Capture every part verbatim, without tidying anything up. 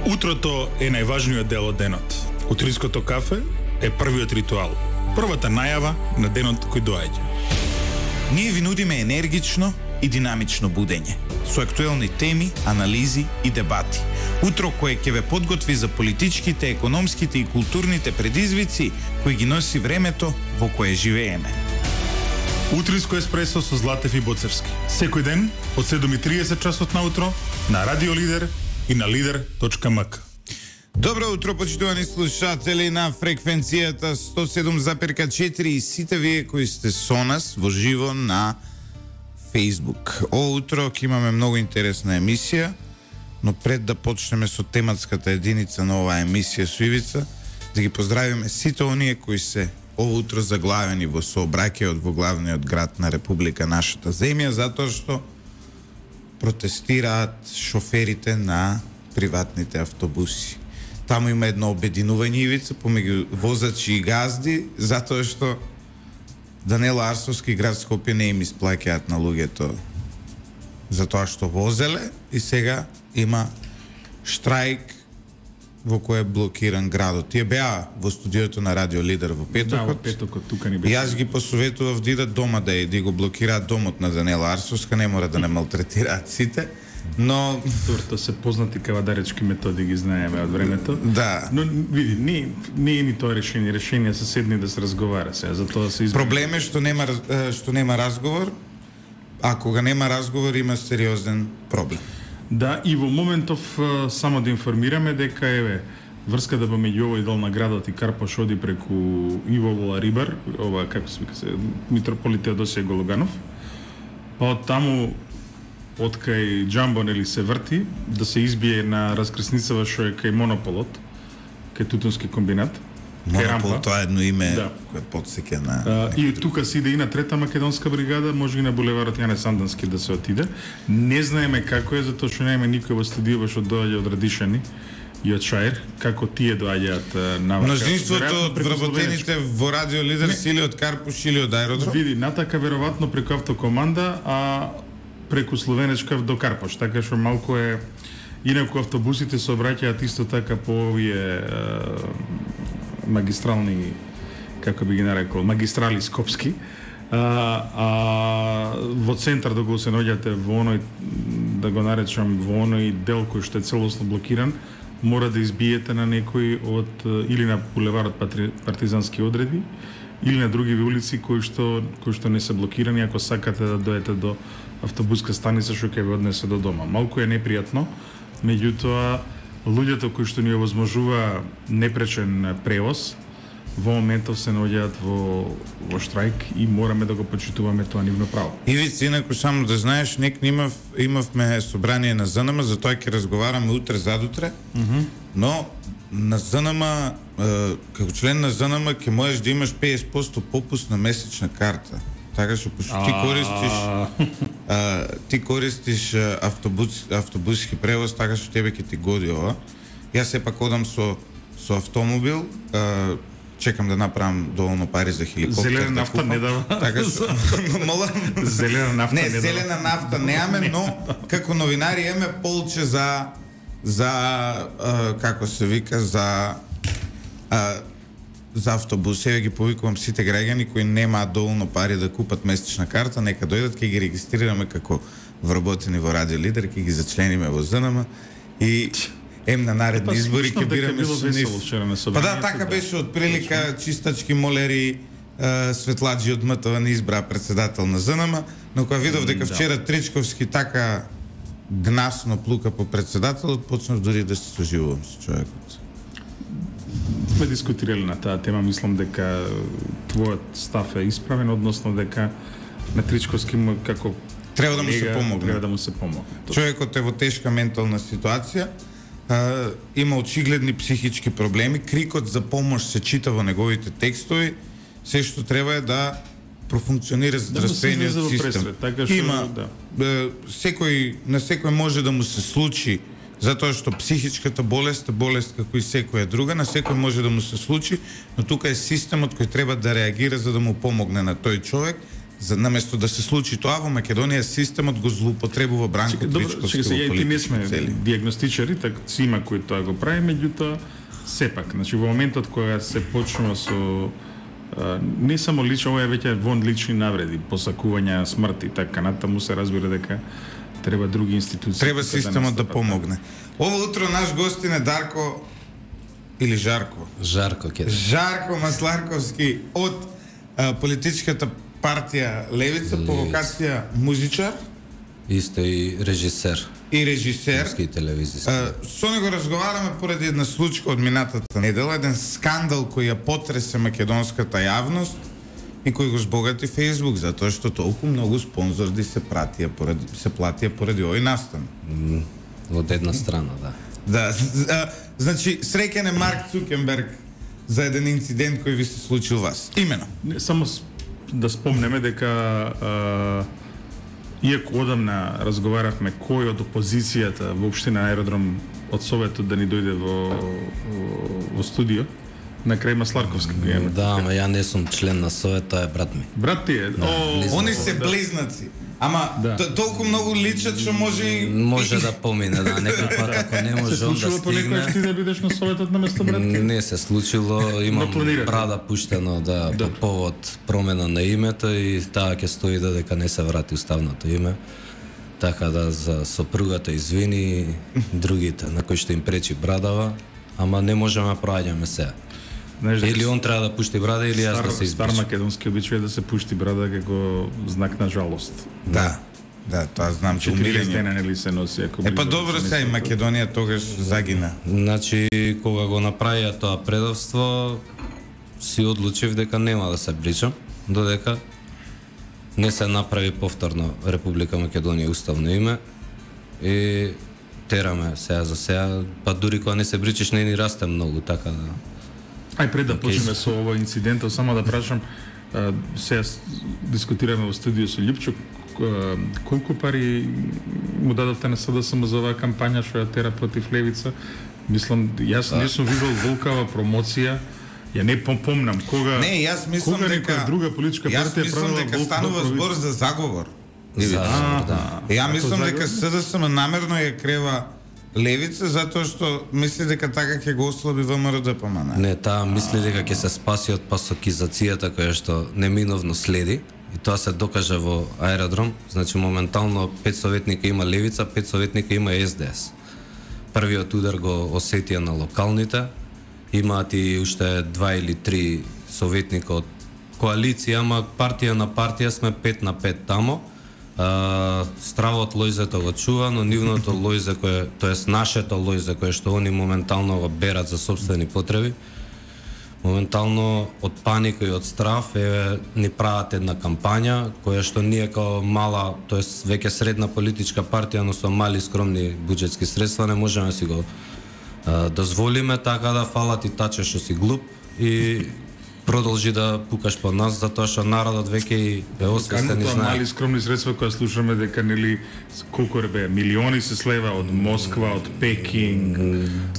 Утрото е најважниот дел од денот. Утринското кафе е првиот ритуал. Првата најава на денот кој доаѓа. Ние ви нудиме енергично и динамично будење, со актуелни теми, анализи и дебати. Утро кое ќе ве подготви за политичките, економските и културните предизвици кои ги носи времето во кое живееме. Утринско еспресо со Златев и Боцевски. Секој ден од седум и триесет часот наутро на Радио Лидер и на лидер точка ем ка. Добро утро, почитувани слушатели на фреквенцијата сто седум запирка четири и сите вие кои сте со нас во живо на Facebook. О утро ќе имаме многу интересна емисија, но пред да почнеме со тематската единица на оваа емисија со Ивица, да ги поздравиме сите оние кои се ово утро заглавени во сообраќајот во главниот град на Република нашата земја, затоа што протестираат шоферите на приватните автобуси. Таму има едно обединување, Ивица, помеѓу возачи и газди, затоа што Данела Арсовски град Скопје не им исплаќаат на луѓето затоа што возеле и сега има штрајк во кој е блокиран градот. Тие беа во студиото на Радио Лидер во петокот. Да, во петокот тука ни беа. Јас ги посоветував да идат дома да ја го блокираат домот на Данела Арсовска, не мора да не малтретираат сите, но Турто се познати кавадаречки методи ги знаеме од времето. Да. Но види, не не е ни тоа решение, решение се седни да се разговара сега, затоа се избра. Проблем е што нема што нема разговор. А кога нема разговор има сериозен проблем. Да, и во моментов само да информираме дека еве врската помеѓу овој дел на градот и Карпош оди преку Иво Вола Рибар, ова како се вика се митрополит Теодосија Гологанов. Па од таму од кај Џамбон или се врти да се избие на раскрсницава што е кај Монополот, кај Тутунски комбинат. Монопол, тоа е едно име да. Кое подсеќа на... А, и тука се иде и на трета македонска бригада, може и на булеварот Јане Сандански да се отиде. Не знаеме како е, затоа што нема никој во студио што доаѓа од Радишани и од Шаир, како тие доаѓаат на вака. Мнозинството од вработените во Радио Лидер си или од Карпуш или од аеродром? Види, натака веројатно преку автокоманда, а преку Словенечка до Карпош, така што малку е... Инаку автобусите се обраќаат исто така по овие магистрални, како би ги нарекол, магистрали скопски, а, а во центар да го се наоѓате во оној, да го наречам, во оној дел кој што е целосно блокиран, мора да избиете на некој од, или на булеварот Партизански одреди, или на други улици кои што, кои што не се блокирани, ако сакате да дојдете до автобуска станица што ќе ве однесе до дома. Малку е непријатно, меѓутоа, луѓето кои што ни овозможува непречен превоз, во моментов се наоѓаат во, во штрајк и мораме да го почитуваме тоа нивно право. Ивица, инаку само да знаеш, нек имав, имавме собрание на ЗНМ, за тоа ќе разговараме утре задутре, mm -hmm. но на ЗНМ, како член на ЗНМ, ќе можеш да имаш петдесет проценти попуст на месечна карта. Така што ти користиш а, ти користиш автобус автобуски превоз, така што тебе ќе ти годи ова. Јас сепак одам со со автомобил, а, чекам да направам доволно пари за хеликоптер. Зелена нафта да не дава. Така што мола зелена нафта не, не, не зелена нафта немаме, но како новинари имаме полче за за а, како се вика за а, за автобус. Еве ги повикувам сите граѓани кои немаат доволно пари да купат месечна карта, нека дојдат, ќе ги регистрираме како вработени во Радио Лидер, ќе ги зачлениме во ЗНМ и ем на наредни избори ќе бираме со нив. Па да, така беше од прилика, чистачки молери, светладжи од МТВ не избра председател на ЗНМ, но кога видов дека вчера Тричковски така гнасно плука по председателот, почнав дури да се соживувам со човекот. Сме дискутирали на таа тема, мислам дека твојот став е исправен, односно дека на Тричковски како треба да му се помогне. Треба да му се помогне. Човекот е во тешка ментална ситуација, а, има очигледни психички проблеми, крикот за помош се чита во неговите текстови, се што треба е да профункционира здравствениот да систем. Пресред, така што, има да. е, секој на секој може да му се случи, затоа што психичката болест е болест како и секоја друга, на секој може да му се случи, но тука е системот кој треба да реагира за да му помогне на тој човек, за наместо да се случи тоа во Македонија, системот го злоупотребува Бранко Тричковски во политички цели. Не сме цели. диагностичари, така си има кои тоа го прави, меѓутоа сепак, значи во моментот кога се почнува со а, не само лично, ова е веќе вон лични навреди, посакувања, смрт и така натаму, се разбира дека треба други институции. Треба системот да помогне. Ова утро наш гостин е Дарко или Жарко. Жарко ке. Жарко Масларковски од а, политичката партија Левица, по вокација музичар. Исто и режисер. И режисер. Руски телевизиски. А, со него разговараме поради една случка од минатата недела, еден скандал кој ја потресе македонската јавност и кој го збогати Фејсбук, затоа што толку многу спонзорди се пратија поради се платија поради овој настан. Mm, од една страна, да. Да, а, значи среќен е Марк Цукенберг за еден инцидент кој ви се случил вас. Имено. Не, само да спомнеме дека а, иако одамна разговаравме кој од опозицијата воопшто на аеродром од Советот да ни дојде во, во, во студио, на крај Масларковски го имаме. Да, ама ја не сум член на Совет, тоа е брат ми. Брат ти е? Да, О, Они се да. близнаци. Ама Да. толку многу личат што може и... Може да помине, да, некој пат ако не Се може он да случило понекогаш ти стигне. да бидеш на Советот на место брат ти? Не се случило, имам Но планирате. брада пуштено да, Да. по повод промена на името и таа ќе стои додека не се врати уставното име. Така да за сопругата извини другите на кои што им пречи брадава, ама не можеме да проаѓаме се. Знаеш дека Или он треба да пушти брада или јас стар, да се стар избричам. македонски обичај е да се пушти брада како знак на жалост. Да. Да, тоа знам че четириесет умирење. дена нели се носи ако Е па близо добро се се и место. Македонија тогаш загина. Значи, кога го направија тоа предавство, си одлучив дека нема да се бричам, додека не се направи повторно Република Македонија уставно име и тераме сега за сега, па дури кога не се бричиш не ни расте многу, така да... Ај пред да Океј. почнеме со ова инцидентот, само да прашам, а, сега с- дискутираме во студио со Љупчо, а, колку пари му дадовте на СДСМ за оваа кампања што ја тера против Левица? Мислам, јас не сум видел волкава промоција, ја не пом- помнам кога Не, јас мислам кога дека некоја друга политичка Јас партија мислам правила дека волк- станува волкови- збор за заговор. За, А, да. Ја Ако мислам дека заговор? СДСМ намерно ја крева Левица затоа што мисли дека така ќе го ослаби ВМРО-ДПМН. Не, таа мисли дека ќе се спаси од пасокизацијата која што неминовно следи и тоа се докажа во аеродром. Значи моментално пет советника има Левица, пет советника има Ес Де Ес. Првиот удар го осетија на локалните, имаат и уште два или три советника од коалиција, ама партија на партија сме пет на пет тамо. А, стравот лојзето го чува, но нивното лојзе кое, тоест нашето лојзе кое што они моментално го берат за собствени потреби, моментално од паника и од страв е ни прават една кампања која што ние како мала, тоест веќе средна политичка партија, но со мали скромни буџетски средства не можеме да си го а, дозволиме, така да фала ти таче што си глуп и продолжи да пукаш по нас, затоа што народот веќе и е освестен и Тоа знае. мали скромни средства кои слушаме дека нели колку ребе милиони се слева од Москва, од Пекинг,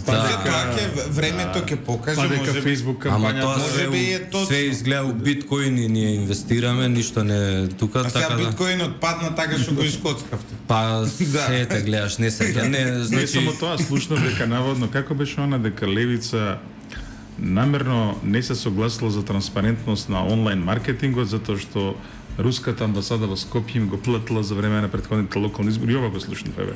Па Да. за тоа ќе времето ќе покаже, па дека може би. Фейсбук Ама кампања тоа може се, би е у- точно. се изгледа у биткоини ние инвестираме, ништо не тука, А сега така да. биткоинот падна така што го искоцкавте. Па Да. се те гледаш, не се гледа. Не, Не значи само тоа, слушнав дека наводно како беше она дека Левица намерно не се согласила за транспарентност на онлайн маркетингот затоа што руската амбасада во Скопје им го платила за време на претходните локални избори. Ова го слушнав, еве.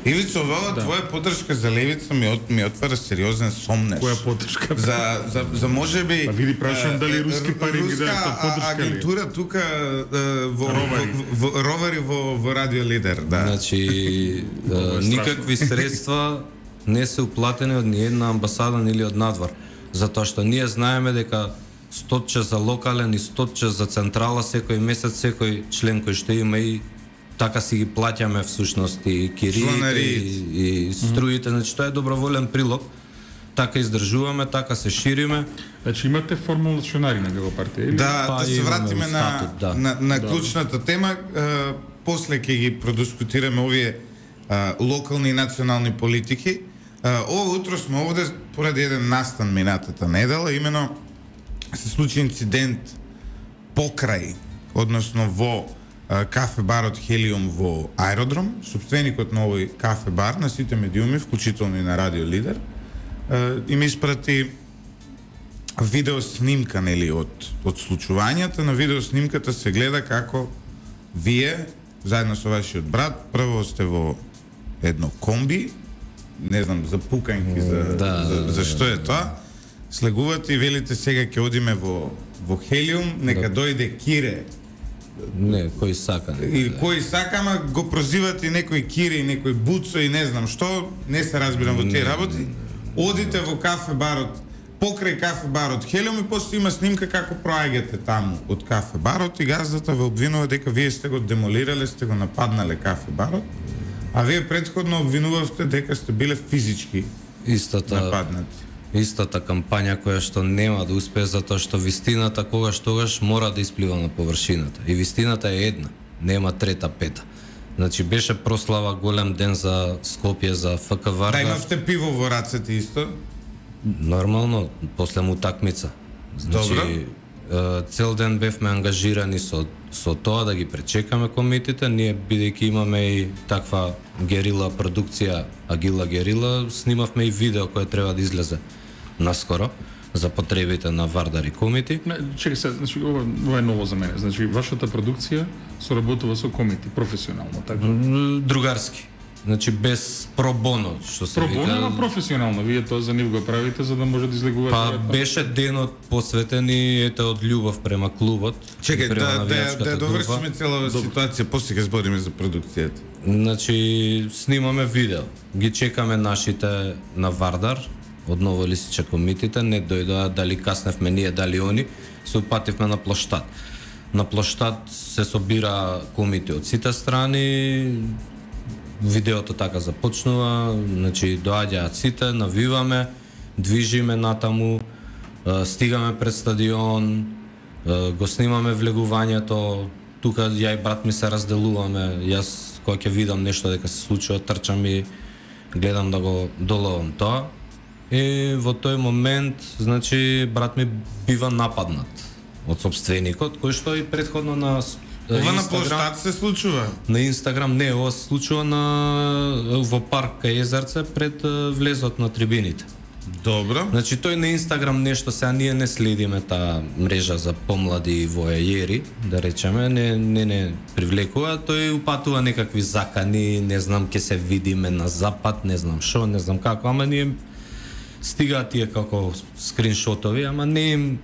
Ивицо, ова Да. твоја поддршка за Левица ми, от, ми отвара сериозен сомнеш. Која поддршка? За, за, за може би... Па види, прашувам е, дали е, руски пари ги руска дадат, тоа поддршка а- ли е? агентура тука е, во, Ровари. во, во, ровари во, во Радио Лидер, да. Значи, Ова е е, страшно. никакви средства не се уплатени од ниедна амбасада или од надвор. Затоа што ние знаеме дека стотче за локален и стотче за централа секој месец, секој член кој што има и така си ги плаќаме всушност и кириите Чланариите. и, и струите, значи тоа е доброволен прилог. Така издржуваме, така се шириме. Значи имате формални членари на како партија или? Да, Па, да се имаме вратиме на, статут, да. на, на клучната тема. Е, после ќе ги продискутираме овие е, локални и национални политики. Е, ова утро сме овде поради еден настан минатата недела, имено се случи инцидент покрај односно во кафе барот Хелиум во Аеродром, собственикот на овој кафе бар на сите медиуми, вклучително и на Радио Лидер, им испрати видео снимка, нели, од од случувањата. На видео снимката се гледа како вие заедно со вашиот брат прво сте во едно комби, не знам, за пукањки, за, да, за, за што е тоа. Слегувате и велите сега ќе одиме во во Хелиум, нека да дојде Кире. Не, кој сака. Не, И да. кој сака, ама го прозивате и некој Кире и некој Буцо и не знам што, не се разбирам во тие работи. Одите во кафе барот, покрај кафе барот Хелиум и после има снимка како проаѓате таму од кафе барот и газдата ве обвинува дека вие сте го демолирале, сте го нападнале кафе барот, а вие претходно обвинувавте дека сте биле физички Истата нападнати. Истата кампања која што нема да успее затоа што вистината когаш тогаш мора да исплива на површината. И вистината е една, нема трета пета. Значи беше прослава голем ден за Скопје, за ФК Вардар. Да, имавте пиво во рацете исто? Нормално, после утакмица. Значи, Добро. цел ден бевме ангажирани со со тоа да ги пречекаме комитите, ние бидејќи имаме и таква герила продукција, Агила Герила, снимавме и видео кое треба да излезе наскоро за потребите на Вардар и комити. Не, чекај се, значи ова, ова е ново за мене. Значи вашата продукција соработува со комити професионално, така? Другарски. Значи без пробоно, што се Пробоно, вика. ама професионално. Вие тоа за нив го правите за да може да излегувате. Па беше денот посветен и ете од љубов према клубот. Чекај, према да, да, навијачката да група. довршиме целава ситуација, после ќе збориме за продукцијата. Значи, снимаме видео. Ги чекаме нашите на Вардар, од Ново Лисиче комитите, не дојдоа дали касневме ние, дали они, се упативме на плоштад. На плоштад се собира комити од сите страни, видеото така започнува, значи доаѓаат сите, навиваме, движиме натаму, стигаме пред стадион, го снимаме влегувањето, тука ја и брат ми се разделуваме, јас кога ќе видам нешто дека се случува, трчам и гледам да го доловам тоа. И во тој момент, значи, брат ми бива нападнат од собственикот, кој што и претходно на Ова на Инстаграм- площад се случува. на Инстаграм, не, ова се случува на во парк кај Езерце пред е, влезот на трибините. Добро. Значи тој на Инстаграм нешто, сега ние не следиме таа мрежа за помлади војајери, да речеме, не не не привлекува, тој упатува некакви закани, не знам ќе се видиме на запад, не знам што, не знам како, ама ние стигаат тие како скриншотови, ама не им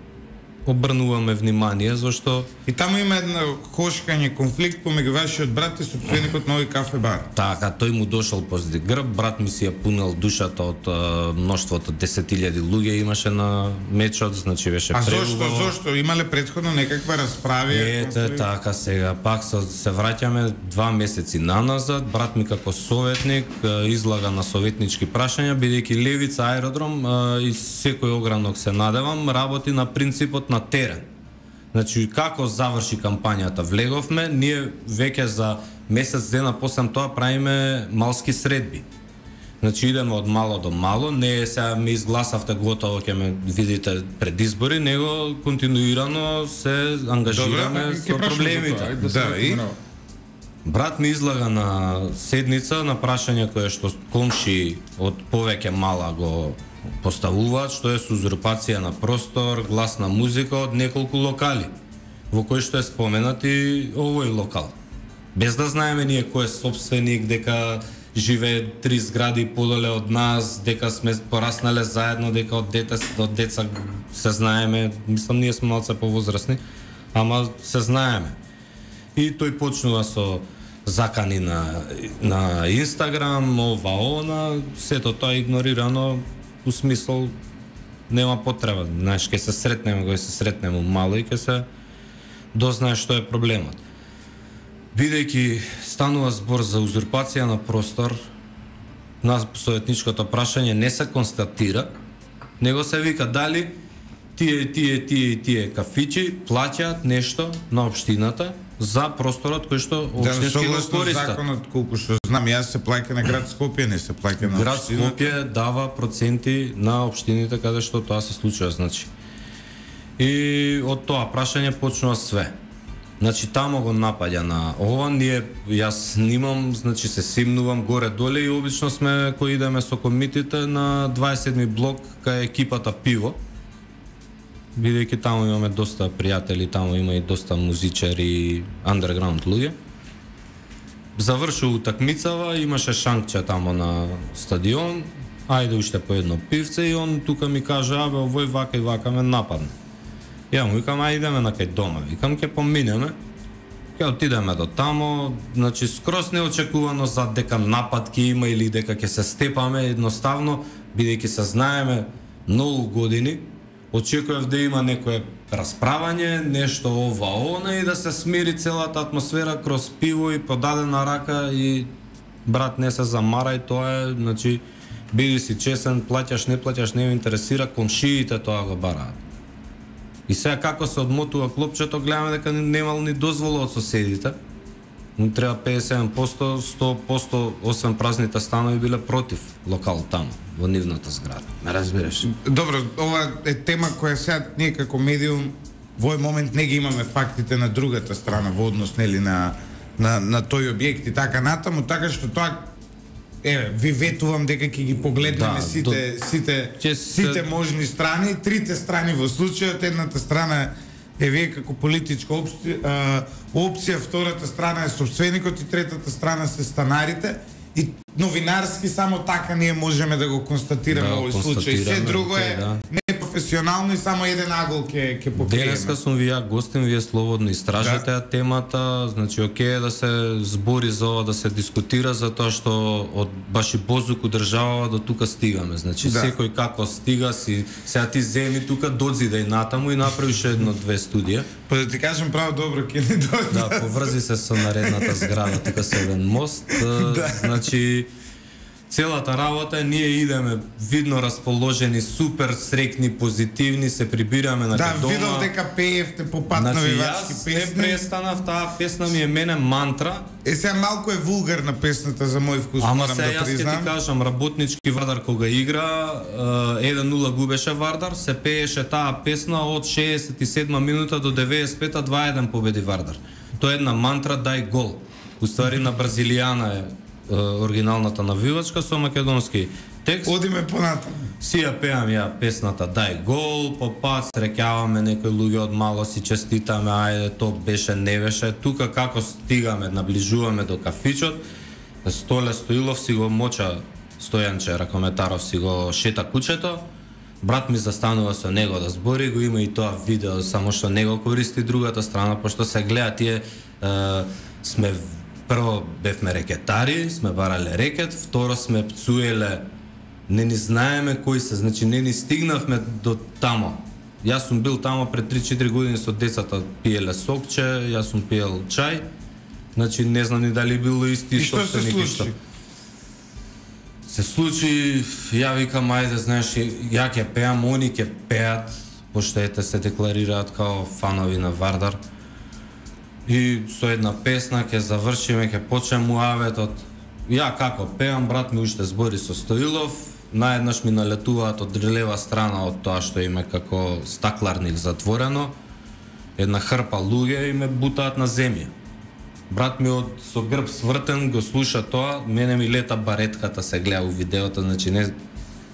обрнуваме внимание, зашто И таму има една кошкање, конфликт помеѓу вашиот брат и собственикот на овој кафе бар. така, тој му дошол позади грб, брат ми си ја пунел душата од а, мноштвото десет илјади луѓе имаше на мечот, значи беше А зошто, превубаво. зошто? Имале претходно некаква расправи? Ете, така сега, пак се, се враќаме два месеци наназад, брат ми како советник а, излага на советнички прашања, бидејќи Левица аеродром а, и секој огранок се надевам, работи на принципот на терен. Значи, како заврши кампањата, влеговме, ние веќе за месец дена после тоа правиме малски средби. Значи, идеме од мало до мало, не е сега ми изгласавте готово, ќе ме видите пред избори, него континуирано се ангажираме Добре, Ќе со прашам за проблемите. тоа, ајде Да, се и? споменува. Брат ми излага на седница на прашање кое што комши од повеќе мала го поставуваат, што е со узурпација на простор, гласна музика од неколку локали, во кој што е споменат и овој локал. Без да знаеме ние кој е собственик, дека живее три згради подоле од нас, дека сме пораснале заедно, дека од дете од деца се знаеме, мислам ние сме малце повозрасни, ама се знаеме. И тој почнува со закани на на Инстаграм, ова она, сето тоа игнорирано, у смисол нема потреба, знаеш, ќе се сретнеме, кога се сретнеме мало и ќе се дознае што е проблемот. Бидејќи станува збор за узурпација на простор, на советничкото прашање не се констатира, него се вика дали тие, тие, тие, тие кафичи плаќаат нешто на општината за просторот кој што Да, општински го согласно користат. законот, колку што знам, јас се плаќа на град Скопје, не се плаќа на Град општина. Скопје дава проценти на општините каде што тоа се случува, значи. И од тоа прашање почнува све. Значи тамо го напаѓа на ова, ние јас снимам, значи се симнувам горе доле и обично сме кои идеме со комитите на дваесет и седми блок кај екипата Пиво. Бидејќи таму имаме доста пријатели, таму има и доста музичари, андерграунд луѓе. Заврши утакмицава, имаше шанкче тамо на стадион, ајде уште по едно пивце и он тука ми каже, абе, овој вака и вака ме нападне. Ја му викам, ајде идеме на кај дома, викам, ке поминеме, ке отидеме до тамо, значи скрос неочекувано за дека напад ке има или дека ќе се степаме, едноставно, бидејќи се знаеме многу години, очекував да има некое расправање, нешто ова она и да се смири целата атмосфера кроз пиво и подадена рака и брат не се замарај, тоа е, значи, биди си чесен, плаќаш, не плаќаш, не ме интересира, комшиите тоа го бараат. И сега како се одмотува клопчето, гледаме дека немал ни дозвола од соседите. Му треба педесет и седум проценти, сто проценти, освен празните станови биле против локал таму, во нивната зграда. Ме разбираш? Добро, ова е тема која сега ние како медиум во овој момент не ги имаме фактите на другата страна во однос нели на на на тој објект и така натаму, така што тоа еве ви ветувам дека ќе ги погледнеме Да, сите до- сите Ќе се- сите можни страни, трите страни во случајот, едната страна е вие како политичка опција, а, опција, втората страна е собственикот и третата страна се станарите. И новинарски само така ние можеме да го констатираме Да, овој случај. Се констатираме, друго е да. непрофесионално и само еден агол ќе ќе покриеме. Денеска сум ви ја гостин, вие слободно истражете Да. ја темата, значи окей е да се збори за ова, да се дискутира за тоа што од баш и Бозук одржава до тука стигаме. Значи Да. секој како стига си, сега ти земи тука додзидај натаму и направиш едно-две студија. Па да ти кажам право добро ќе не дојде. Да, поврзи се со наредната зграда, тука се еден мост. Да. Значи, целата работа е ние идеме видно расположени, супер срекни, позитивни, се прибираме на Да, кај дома. видов дека пеевте по пат Значи, навивачки јас не песни. престанав, таа песна ми е мене мантра. Е, сега малку е вулгарна песната за мој вкус, Ама морам се да јас ќе ти признам. кажам, работнички Вардар кога игра, еден нула губеше Вардар, се пееше таа песна од шеесет и седма минута до деветдесет и пета, два еден победи Вардар. Тоа е една мантра, дај гол. Уствари на бразилијана е е, оригиналната навивачка со македонски текст. Одиме понатаму. Си ја пеам ја песната Дај гол, по пат среќаваме некои луѓе од мало, си честитаме, ајде то беше, не беше. Тука како стигаме, наближуваме до кафичот, Столе Стоилов си го моча, Стојанче Ракометаров си го шета кучето, брат ми застанува со него да збори, го има и тоа видео, само што него користи другата страна, пошто се гледа тие, е, сме прво бевме рекетари, сме барале рекет, второ сме пцуеле, не ни знаеме кои се, значи не ни стигнавме до тамо. Јас сум бил тамо пред три-четири години со децата, пиеле сокче, јас сум пиел чај, значи не знам ни дали било исти И што се собственик и што. случи? Се случи, ја викам, ајде, знаеш, ја ќе пеам, они ќе пеат, пошто ете се декларираат као фанови на Вардар. И со една песна ќе завршиме, ќе почнем муаветот. Ја како пеам, брат ми уште збори со Стоилов, наеднаш ми налетуваат од лева страна од тоа што име како стакларник затворено, една хрпа луѓе и ме бутаат на земја. Брат ми од со грб свртен го слуша тоа, мене ми лета баретката, се гледа у видеото, значи не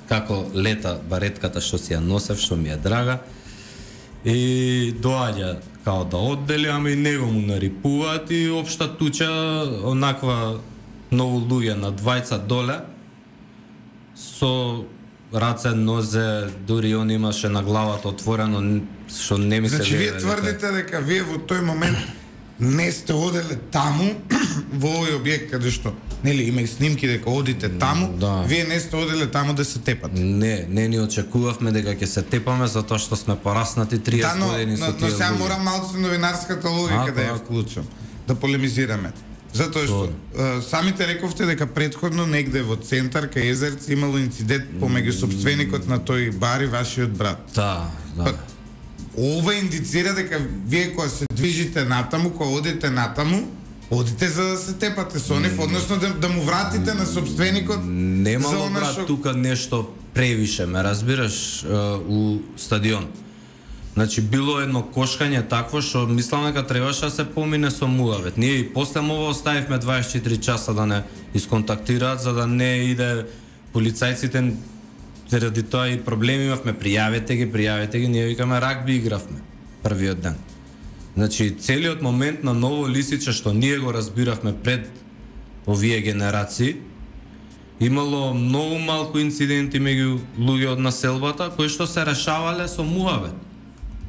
како лета баретката што си ја носев, што ми е драга. И доаѓа као да оддели, ама и него му нарипуваат и општа туча, онаква многу луѓе на двајца доле, со раце, нозе, дури он имаше на главата отворено, што не ми се Значи, вие вере дека- тврдите дека вие во тој момент не сте оделе таму, во овој објект каде што, нели, има и снимки дека одите таму, да. вие не сте оделе таму да се тепате. Не, не ни очекувавме дека ќе се тепаме затоа што сме пораснати Да, триесет но, години но, со но тие сега луѓе. морам малку со новинарската логика Ако, да ја ако. вклучам, да полемизираме. Затоа што е, самите рековте дека претходно негде во центар кај Езерци имало инцидент помеѓу собственикот на тој бар и вашиот брат. Да, да. Па, ова индицира дека вие кога се движите натаму, кога одите натаму, одите за да се тепате со нив, односно да, да му вратите на собственикот за Немало она брат што... тука нешто превише, ме разбираш, е, у стадион. Значи било едно кошкање такво што мислам дека требаше да се помине со муавет. Ние и после мова оставивме дваесет и четири часа да не исконтактираат за да не иде полицајците заради тоа и проблеми имавме, пријавете ги, пријавете ги, ние викаме рагби игравме првиот ден. Значи целиот момент на Ново Лисиче што ние го разбиравме пред овие генерации, имало многу малку инциденти меѓу луѓе од населбата кои што се решавале со муавет.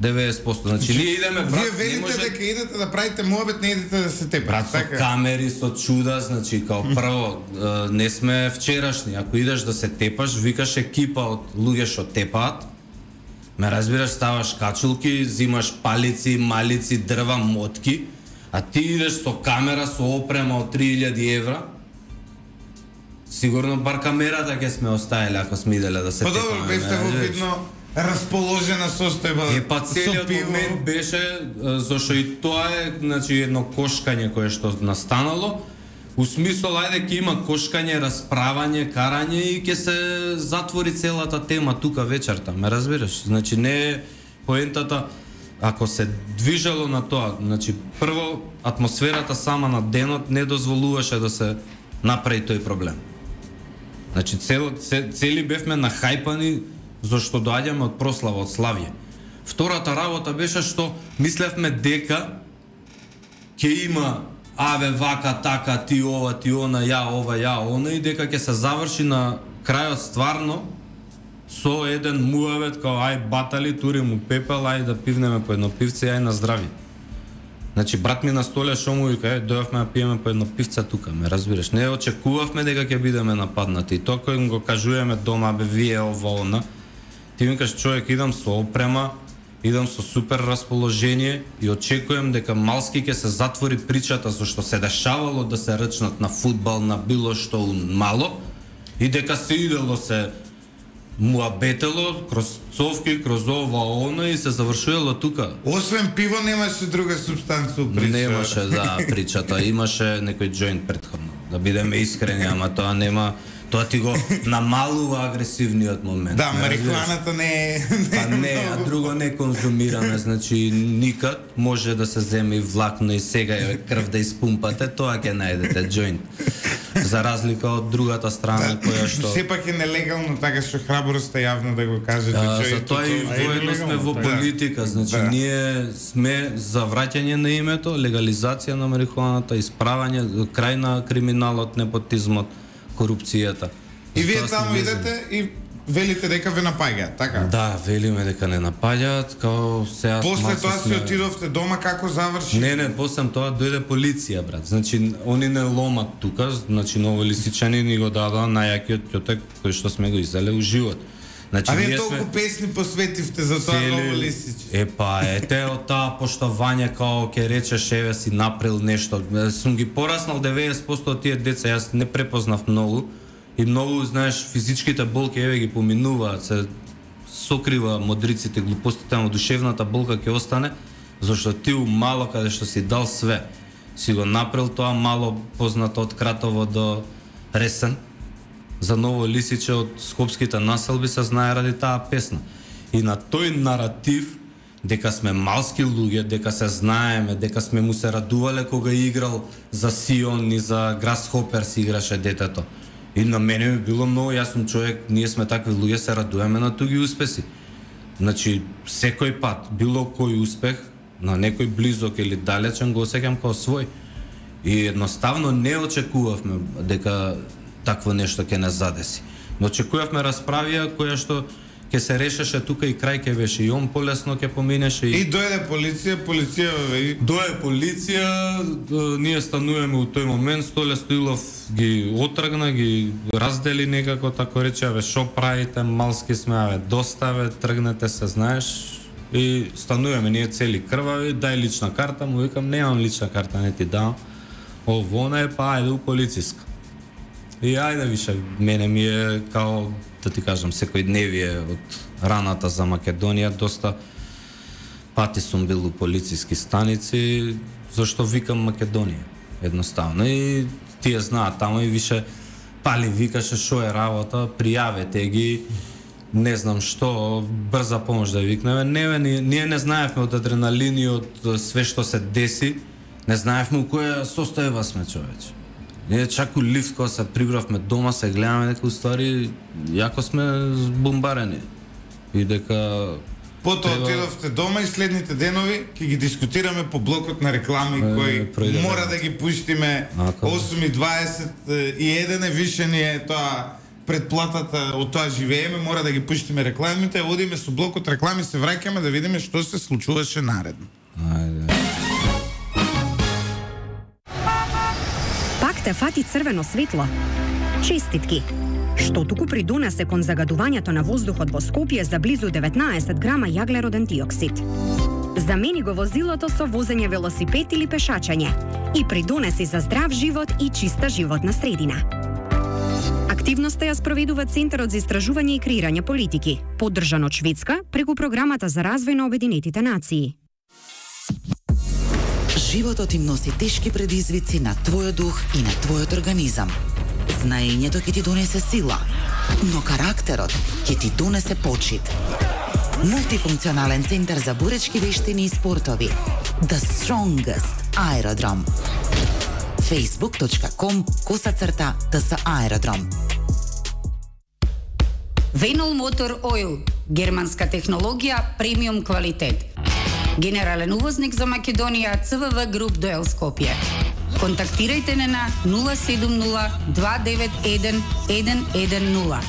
деветдесет проценти. Значи ние идеме брат, вие велите може... дека идете да правите муабет, не идете да се тепате. Брат, со така? камери, со чуда, значи као прво не сме вчерашни. Ако идеш да се тепаш, викаш екипа од луѓе што тепаат. Ме разбираш, ставаш качулки, зимаш палици, малици, дрва, мотки, а ти идеш со камера, со опрема од три илјади евра. Сигурно бар камерата ќе сме оставили ако сме иделе да се Па тепаме. добро, бевте во видно расположена состојба. Е, па целиот момент беше, зашто и тоа е, значи, едно кошкање кое што настанало, у смисол, ајде, ќе има кошкање, расправање, карање и ќе се затвори целата тема тука вечерта, ме разбираш? Значи, не е поентата, ако се движело на тоа, значи, прво, атмосферата сама на денот не дозволуваше да се направи тој проблем. Значи, цел, цели бевме нахајпани, зашто доаѓаме од прослава, од славје. Втората работа беше што мислевме дека ќе има аве вака така ти ова ти она ја ова ја она и дека ќе се заврши на крајот стварно со еден муавет као ај батали тури му пепел ај да пивнеме по едно пивце ај на здрави. Значи брат ми на столе што му вика е дојавме да пиеме по едно пивце тука, ме разбираш. Не очекувавме дека ќе бидеме нападнати и тоа кој го кажуваме дома бе вие ова она. Ти викаш човек идам со опрема, идам со супер расположение и очекувам дека малски ќе се затвори причата зашто се дешавало да се рчнат на фудбал, на било што мало и дека се идело се муабетело кроз цовки, кроз ова оно и се завршувало тука. Освен пиво немаше друга субстанца у причата. Немаше, да, причата. Имаше некој џоинт претходно. Да бидеме искрени, ама тоа нема. Тоа ти го намалува агресивниот момент. Да, марихуаната не е... Па не, а друго не конзумираме, значи никад може да се земе и влакно и сега е крв да испумпате, тоа ќе најдете џоинт. За разлика од другата страна да, која што... Сепак е нелегално, така што храброста јавно да го кажете џоинт. Затоа и воедно сме во политика, значи да. ние сме за враќање на името, легализација на марихуаната, исправање, крај на криминалот, непотизмот, корупцијата. И вие таму идете и велите дека ве напаѓаат, така? Да, велиме дека не напаѓаат, као сега... После тоа си отидовте дома, како заврши? Не, не, после тоа дојде полиција, брат. Значи, они не ломат тука, значи новолисичани ни го дадоа најакиот ќотек кој што сме го изеле у живот. Значи, а вие толку сме... песни посветивте за тоа Цели... Новолисич. Е, па, ете, од таа поштовање, као ке речеш, еве си направил нешто. Сум ги пораснал деветдесет проценти од тие деца, јас не препознав многу. И многу, знаеш, физичките болки, еве ги поминуваат, се сокрива модриците, глупостите, но душевната болка ќе остане, зашто ти у мало каде што си дал све, си го направил тоа мало познато од Кратово до Ресен, за Ново Лисиче од скопските населби се знае ради таа песна. И на тој наратив, дека сме малски луѓе, дека се знаеме, дека сме му се радувале кога играл за Сион и за Грасхопер си играше детето. И на мене ми било многу, јас сум човек, ние сме такви луѓе, се радуваме на туги успеси. Значи, секој пат, било кој успех, на некој близок или далечен, го осеќам како свој. И едноставно не очекувавме дека такво нешто ќе не задеси. Но очекувавме расправија која што ќе се решеше тука и крај ќе беше и он полесно ќе поминеше и... И дојде полиција, полиција ве... Дојде полиција, ние стануваме у тој момент, Столе Стоилов ги отргна, ги раздели некако, тако рече, аве шо правите, малски сме, аве доставе, тргнете се, знаеш, и стануваме ние цели крвави, дај лична карта, му викам, немам лична карта, не ти дам, овона е, па ајде у полициска. И ајде више, мене ми е као, да ти кажам, секој дневие од раната за Македонија, доста пати сум бил у полициски станици, зашто викам Македонија, едноставно. И тие знаат тамо и више, пали викаше шо е работа, пријавете ги, не знам што, брза помош да викнеме. Не, ние, ние не знаевме од адреналин и од све што се деси, не знаевме у која состојба сме, човече. Ние чак у лифт кога се прибравме дома, се гледаме некои ствари, јако сме збомбарени. И дека Потоа треба... отидовте дома и следните денови ќе ги дискутираме по блокот на реклами е, кои пројде, мора да ги пуштиме осум и дваесет и еден е више ни е тоа предплатата, од тоа живееме, мора да ги пуштиме рекламите, одиме со блокот реклами, се враќаме да видиме што се случуваше наредно. Ајде. Пак те фати црвено светло. Честитки. Што туку придонесе кон загадувањето на воздухот во Скопје за близу деветнаесет грама јаглероден диоксид. Замени го возилото со возење велосипед или пешачење и придонеси за здрав живот и чиста животна средина. Активноста ја спроведува Центарот за истражување и креирање политики, поддржан од Шведска преку програмата за развој на Обединетите нации. Животот им носи тешки предизвици на твојот дух и на твојот организам. Знаењето ќе ти донесе сила, но карактерот ќе ти донесе почит. Мултифункционален центар за буречки вештини и спортови. The Strongest Aerodrome. facebook dot com косацрта тс аеродром. Venol Motor Oil, германска технологија, премиум квалитет. Генерален увозник за Македонија, Ц В В Груп Доел Скопје. Контактирајте не на нула седум нула два девет еден еден еден нула.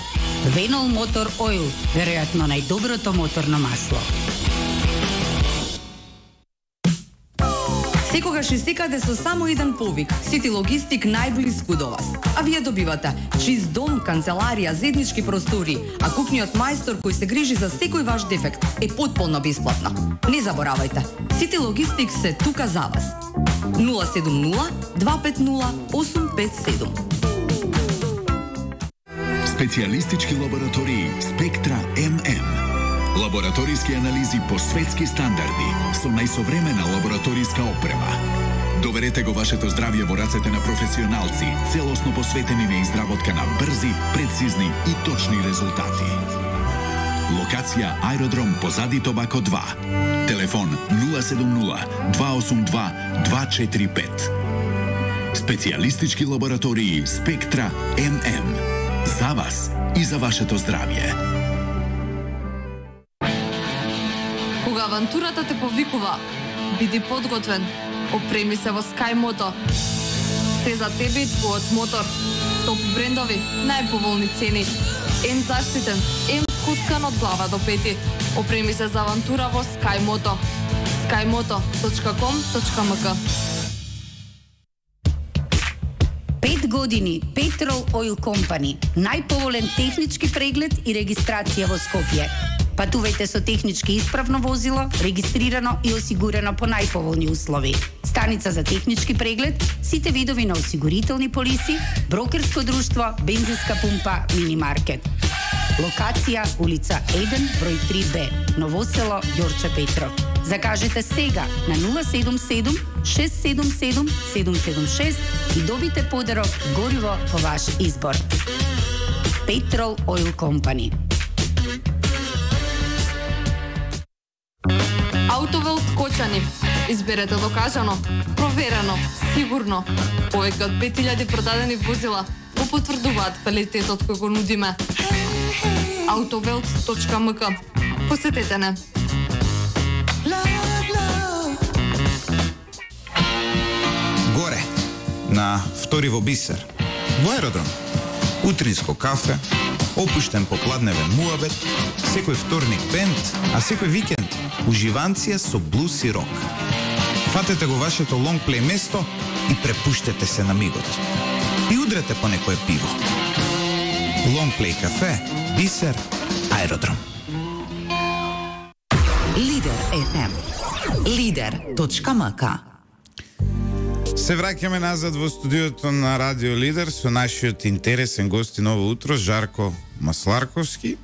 Venol Motor Oil, веројатно најдоброто моторно масло. Секогаш и секаде со само еден повик. Сити Логистик најблиску до вас. А вие добивате чист дом, канцеларија, заеднички простори, а кухниот мајстор кој се грижи за секој ваш дефект е потполно бесплатно. Не заборавајте, Сити Логистик се тука за вас. нула седум нула два пет нула осум пет седум. Специјалистички лаборатории Спектра М М. Лабораториски анализи по светски стандарди со најсовремена лабораториска опрема. Доверете го вашето здравје во рацете на професионалци, целосно посветени на изработка на брзи, прецизни и точни резултати. Локација Аеродром позади Тобако два. Телефон нула седум нула два осум два два четири пет. Специјалистички лаборатории Спектра М М. За вас и за вашето здравје. Кога авантурата те повикува, биди подготвен. Опреми се во SkyMoto. Се за тебе и твојот мотор. Топ брендови, најповолни цени. Ем заштитен, ем скуцкан од глава до пети. Опреми се за авантура во SkyMoto. skymoto точка com точка м к. Пет години Petrol Oil Company. Најповолен технички преглед и регистрација во Скопје. Патувајте со технички исправно возило, регистрирано и осигурено по најповолни услови. Станица за технички преглед, сите видови на осигурителни полиси, брокерско друштво, бензинска пумпа, мини-маркет. Локација улица еден, број три Б, Новосело, Ѓорче Петров. Закажете сега на нула седум седум шест седум седум седум седум шест и добите подарок гориво по ваш избор. Petrol Oil Company. Автовелт Кочани. Изберете докажано, проверено, сигурно. Повеќе од пет илјади продадени возила го потврдуваат квалитетот кој го нудиме. автовелт точка м к. Посетете не. Горе, на втори во Бисер, во Аеродром. Утринско кафе, опуштен попладневен муабет, секој вторник бенд, а секој викенд уживанција со блуз и рок. Фатете го вашето лонгплей место и препуштете се на мигот. И удрете по некое пиво. Лонгплей кафе, Бисер, Аеродром. Лидер Ф М. Лидер точка м к. Се враќаме назад во студиото на Радио Лидер со нашиот интересен гости ново утро, Жарко Масларковски,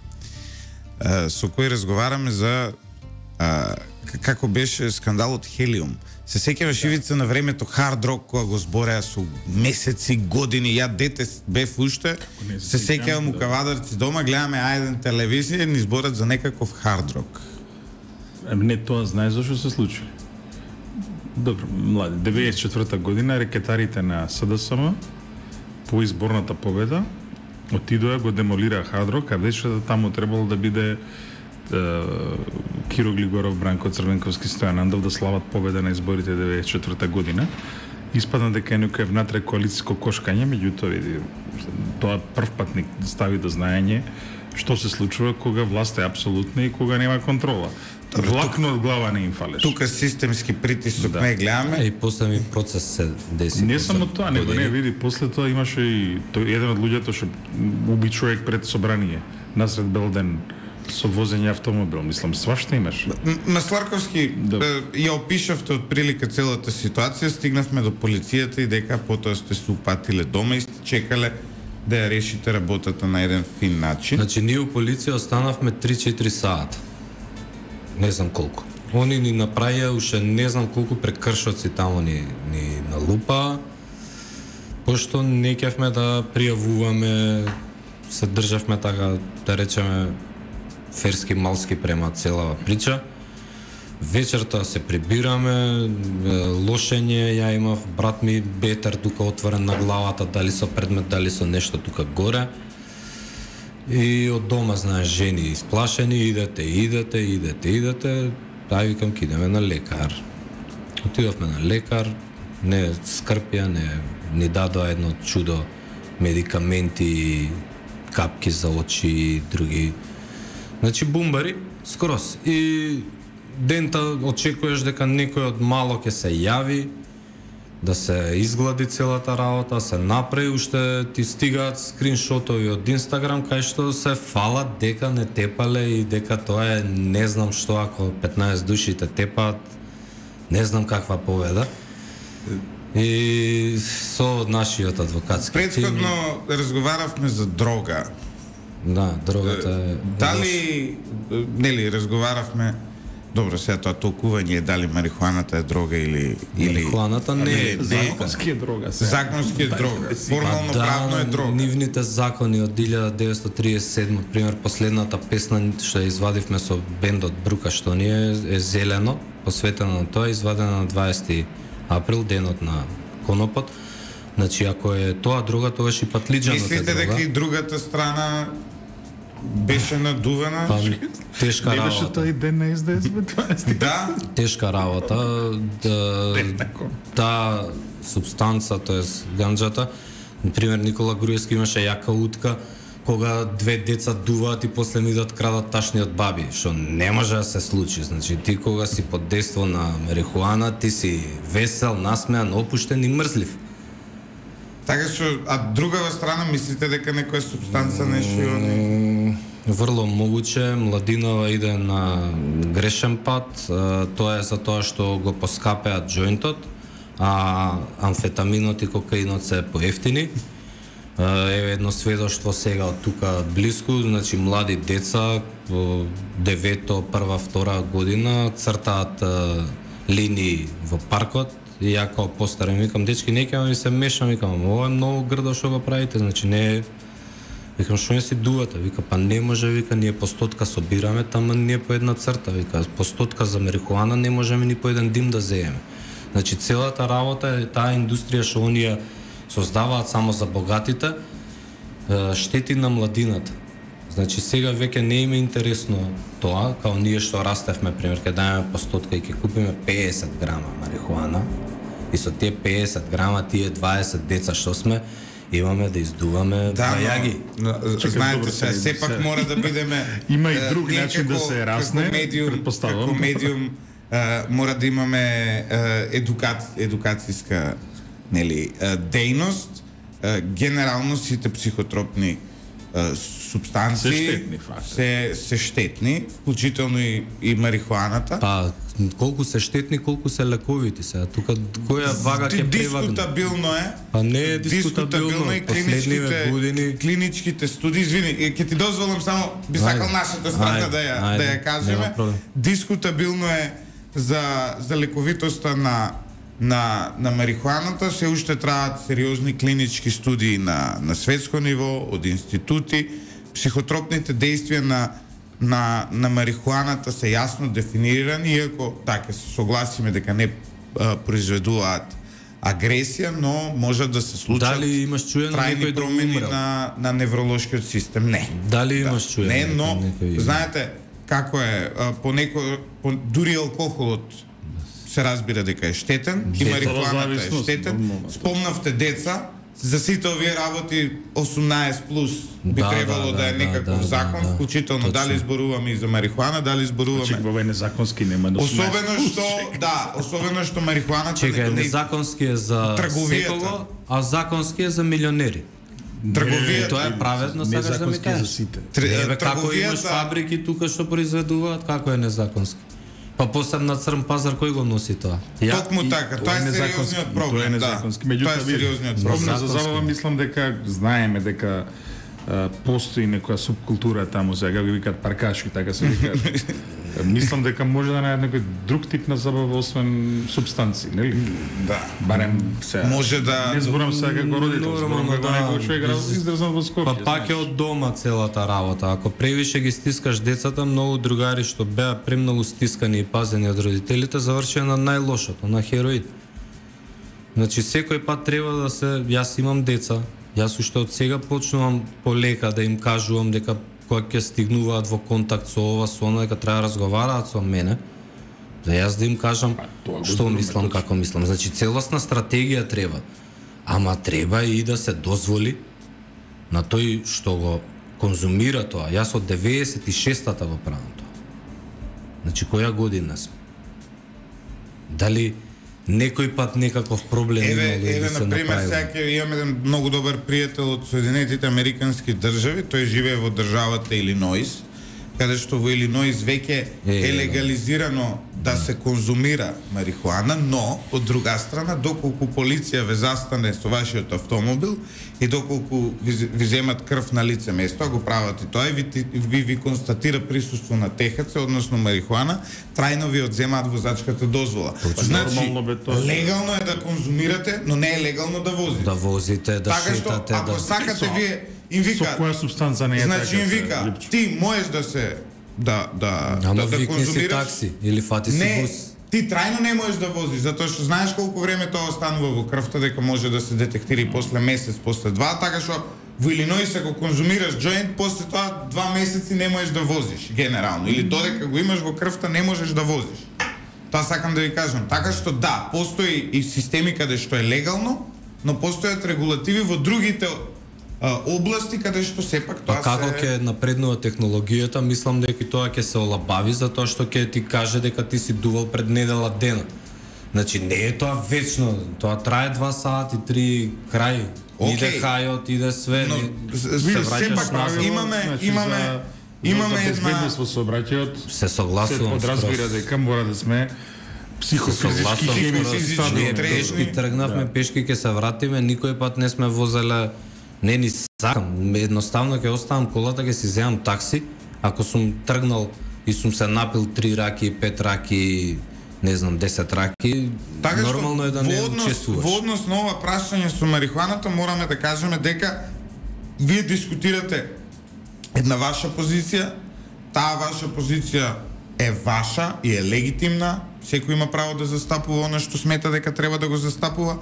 со кој разговараме за како беше скандалот Хелиум. Се сеќаваш Ивица на времето хард рок кога го збореа со месеци, години, ја дете бев уште, се сеќавам у кавадарци дома, гледаме ајден телевизија и ни зборат за некаков хард рок. Не, тоа знаеш зашо се случи. Добро, млади, деветдесет и четврта година рекетарите на СДСМ по изборната победа отидоа, го демолираа хард рок, а вече таму требало да биде Киро Глигоров, Бранко Црвенковски, Стојан Андов да слават победа на изборите деветдесет и четврта година. Испадна дека е некој внатре коалициско кошкање, меѓутоа види, тоа прв пат ни стави до знаење што се случува кога власт е апсолутна и кога нема контрола. Влакно од глава не им фалеш. Тука системски притисок Да. не гледаме. И после ми процес се деси. Не само тоа, него не види, после тоа имаше и тој еден од луѓето што уби човек пред собрание насред бел ден со возење автомобил, мислам, свашта имаш. М- Масларковски, Да. е, ја опишавте од прилика целата ситуација, стигнавме до полицијата и дека потоа сте се упатиле дома и сте чекале да ја решите работата на еден фин начин. Значи, ние у полиција останавме три-четири сата. Не знам колку. Они ни направија уште не знам колку прекршоци таму ни, ни налупа, пошто не ќевме да пријавуваме, се државме така, да речеме, ферски малски према целава прича. Вечерта се прибираме, лошење, ја имав брат ми бетер тука отворен на главата, дали со предмет, дали со нешто тука горе. И од дома, знаеш, жени исплашени, идете, идете, идете, идете, ај викам, ке идеме на лекар. Отидовме на лекар, не скрпија, не ни дадоа едно чудо медикаменти, капки за очи и други. Значи бумбари, скрос. И дента очекуваш дека некој од мало ќе се јави, да се изглади целата работа, се направи, уште ти стигаат скриншотови од Инстаграм кај што се фалат дека не тепале и дека тоа е не знам што ако петнаесет души те тепаат, не знам каква поведа. И со нашиот адвокатски Претходно разговаравме за дрога. Да, другата е... Дали, нели, разговаравме, добро, сега тоа толкување е дали марихуаната е дрога или... или Марихуаната не е Законски е дрога се. Законски е дрога. Формално правно е дрога. Нивните закони од илјада деветстотини триесет и седма, пример, последната песна што ја извадивме со бендот Брука, што ни е, е зелено, посветено на тоа, извадена на дваесети април, денот на конопот. Значи, ако е тоа дрога, тогаш и патлиџанот е Мислите дрога. дека и другата страна беше надувана? Па, тешка Не беше работа. тој ден на СДС бе дваесети? Да, Тешка работа. Да, таа субстанца, тоест ганџата, например, Никола Груевски имаше јака утка, кога две деца дуваат и после ми идат крадат ташниот баби, што не може да се случи. Значи, ти кога си под дејство на марихуана, ти си весел, насмеан, опуштен и мрзлив. така што, а другава страна мислите дека некоја субстанца нешто и они? Врло могуче, младинова иде на грешен пат, а, тоа е за тоа што го поскапеат џоинтот, а амфетаминот и кокаинот се поевтини. Еве едно сведоштво сега од тука блиску, значи млади деца во девето, прва, втора година цртаат а, линии во паркот и ја као постарен викам, дечки, не ќе ми се мешам, викам, ова е многу грдо што го правите, значи не е. Викам, што не си дувате? Вика, па не може, вика, ние постотка собираме, тама ние по една црта, вика, постотка за марихуана не можеме ни по еден дим да зееме. Значи целата работа е таа индустрија што оние создаваат само за богатите, штети на младината. Значи сега веќе не им е интересно тоа, као ние што растевме, пример, ќе дајме постотка и ќе купиме пеесет грама марихуана и со тие пеесет грама тие дваесет деца што сме, имаме да издуваме Да, бајаги. но, но, Чекай, знаете добро, се, се- сепак се- мора да бидеме Има и е, друг ние начин да како- се расне, како медиум, претпоставам. како медиум е, мора да имаме е, едукаци, едукацијска нели е, дејност. Е, генерално сите психотропни е, субстанции Се штетни, факт. се, се штетни, вклучително и, и марихуаната. Па, колку се штетни, колку се лековити сега. Тука која вага ќе превагне? Дискутабилно е. Па не е дискутабилно. и Последниве клиничките, години клиничките студии, извини, е, ќе ти дозволам само, би Ајде, сакал нашата страна ајде, да ја, ајде, да ја нема кажеме. проблем. Дискутабилно е за за лековитоста на на на марихуаната, се уште траат сериозни клинички студии на на светско ниво од институти. Психотропните действија на на на марихуаната се јасно дефинирани, иако така се согласиме дека не а, произведуваат агресија, но може да се случат. Дали имаш чуено некој да промени умрел? на на невролошкиот систем? Не. Дали Да. имаш чуено? Не, но некој... знаете како е, а, по некој по, дури алкохолот се разбира дека е штетен и марихуаната е штетен. Спомнавте деца, за сите овие работи осумнаесет плюс би Да, требало да, да е да, некаков да, закон, да, да. вклучително Точно. дали зборуваме и за марихуана, дали зборуваме. Чек, ова е незаконски, нема да Особено што, да, особено што марихуаната Чекај, не- незаконски е за Трговијата. секого, а законски е за милионери. трговијата. Тоа е праведно, сакаш да ми незаконски е за кажеш? сите. Тр- Не, бе, како трговијата- имаш фабрики тука што произведуваат, како е незаконски? Па посебно на црн пазар кој го носи тоа? Ја? Токму така, тоа е сериозниот проблем, Тоа е да. незаконски. Тоа Меѓутоа, е сериозниот Спомна проблем. за забава, мислам дека знаеме дека а, постои некоја субкултура таму, сега ги викаат паркашки, така се викаат. Мислам дека може да најдат некој друг тип на забава освен субстанци, нели? Да. Барем се. Може да- Не зборам сега како родител, зборам Нормално, како да. некој човек издржан во Скопје. Па пак е знаеш. од дома целата работа. Ако превише ги стискаш децата, многу другари што беа премногу стискани и пазени од родителите, завршија на најлошото, на хероин. Значи секој пат треба да се, јас имам деца, јас уште од сега почнувам полека да им кажувам дека кога ќе стигнуваат во контакт со ова, со она, дека треба да разговараат со мене, за јас да им кажам тоа го што зборуваме мислам, како мислам. Значи целосна стратегија треба. Ама треба и да се дозволи на тој што го конзумира тоа. Јас од деветдесет и шестата го правам тоа. Значи која година сме? Дали некој пат некаков проблем Еве, имало еве да се на пример, направи? сега ќе имам еден многу добар пријател од Соединетите Американски држави, тој живее во државата Илиноис, каде што во Илиноис веќе Е, е да. легализирано да се конзумира марихуана, но од друга страна, доколку полиција ве застане со вашиот автомобил и доколку ви, ви земат крв на лице место, а го прават и тоа, и ви, ти- ви, ви констатира присуство на Т Х Ц, односно марихуана, трајно ви одземаат возачката дозвола. Значи, Нормално бе тоа. легално е да конзумирате, но не е легално да возите. Да возите, да Така што, шетате, ако да... сакате вие, им Со вика, која субстанца не е значи така? им се, вика, Липчо? ти можеш да се да да Ама да, да викни си конзумираш. такси или фати си Не, бус. ти трајно не можеш да возиш, затоа што знаеш колку време тоа останува во крвта дека може да се детектира и после месец, после два, така што во Илиноис ако конзумираш џоинт, после тоа два месеци не можеш да возиш генерално, или додека го имаш во крвта не можеш да возиш. Тоа сакам да ви кажам. Така што да, постои и системи каде што е легално, но постојат регулативи во другите а, области каде што сепак тоа Па како се... ќе напреднува технологијата, мислам дека и тоа ќе се олабави затоа што ќе ти каже дека ти си дувал пред недела дена. Значи не е тоа вечно, тоа трае два сати, три крај. Океј. Иде хајот, иде све. Но, не- с- се вие враќаш сепак назад. имаме- значи, имаме- за- имаме за една- безбедност во сообраќајот. Се Се согласувам. подразбира скроз. дека мора да сме психофизички, Согласувам, хемиски, физички, стабилни. трезни. Пешки тргнавме, пешки ќе се вратиме, никој пат не сме возеле, не ни сакам, едноставно ќе оставам колата, ќе си земам такси, ако сум тргнал и сум се напил три раки, пет раки, не знам, десет раки, Така што нормално е да не во однос, учествуваш. во однос на ова прашање со марихуаната мораме да кажеме дека вие дискутирате една ваша позиција, таа ваша позиција е ваша и е легитимна, секој има право да застапува она што смета дека треба да го застапува,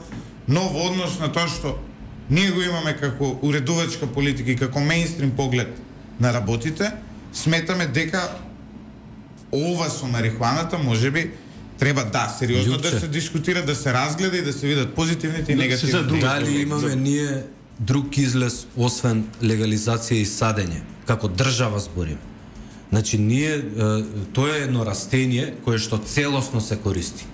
но во однос на тоа што ние го имаме како уредувачка политика и како мејнстрим поглед на работите, сметаме дека ова со марихуаната можеби треба да сериозно да Лјупче. се дискутира, да се разгледа и да се видат позитивните и Да, се негативните. задруга. Дали имаме ние друг излез освен легализација и садење, како држава зборим. Значи ние е, тоа е едно растение кое што целосно се користи.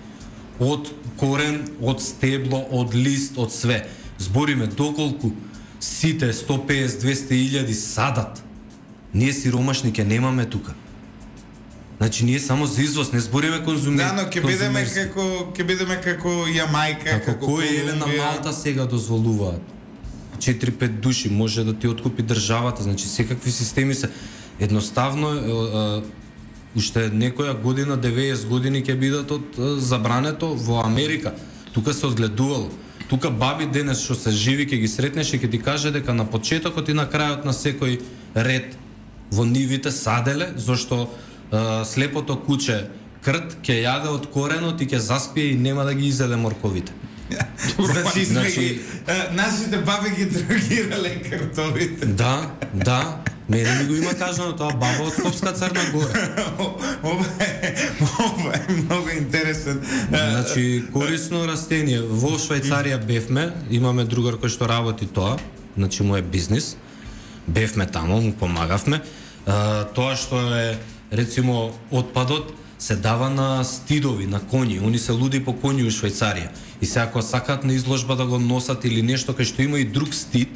Од корен, од стебло, од лист, од све. Збориме доколку сите сто песет до двесте илјади садат. Ние сиромашни ќе немаме тука. Значи ние само за извоз, не збориме конзумер. Да, но ќе бидеме како ќе бидеме како Јамајка, Како кој еле на Колумбија. Малта сега дозволуваат. четири-пет души може да ти откупи државата, значи секакви системи се едноставно е, е, уште некоја година, деветдесет години ќе бидат од забрането во Америка. Тука се одгледувало. Тука баби денес што се живи ќе ги сретнеш и ќе ти каже дека на почетокот и на крајот на секој ред во нивите саделе, зашто е, слепото куче крт ќе јаде од коренот и ќе заспие и нема да ги изеде морковите. Значи, Значи- ги, а, нашите баби ги дрогирале картовите. Да, да. Мене ми го има кажано тоа баба од Скопска Црна Гора. Ова е, ова е многу интересен. Значи, корисно растение. Во Швајцарија бевме, имаме другар кој што работи тоа, значи му е бизнис. Бевме таму, му помагавме. А, тоа што е, рецимо, отпадот се дава на стидови, на коњи. Они се луди по коњи у Швајцарија. И се ако сакат на изложба да го носат или нешто кај што има и друг стид,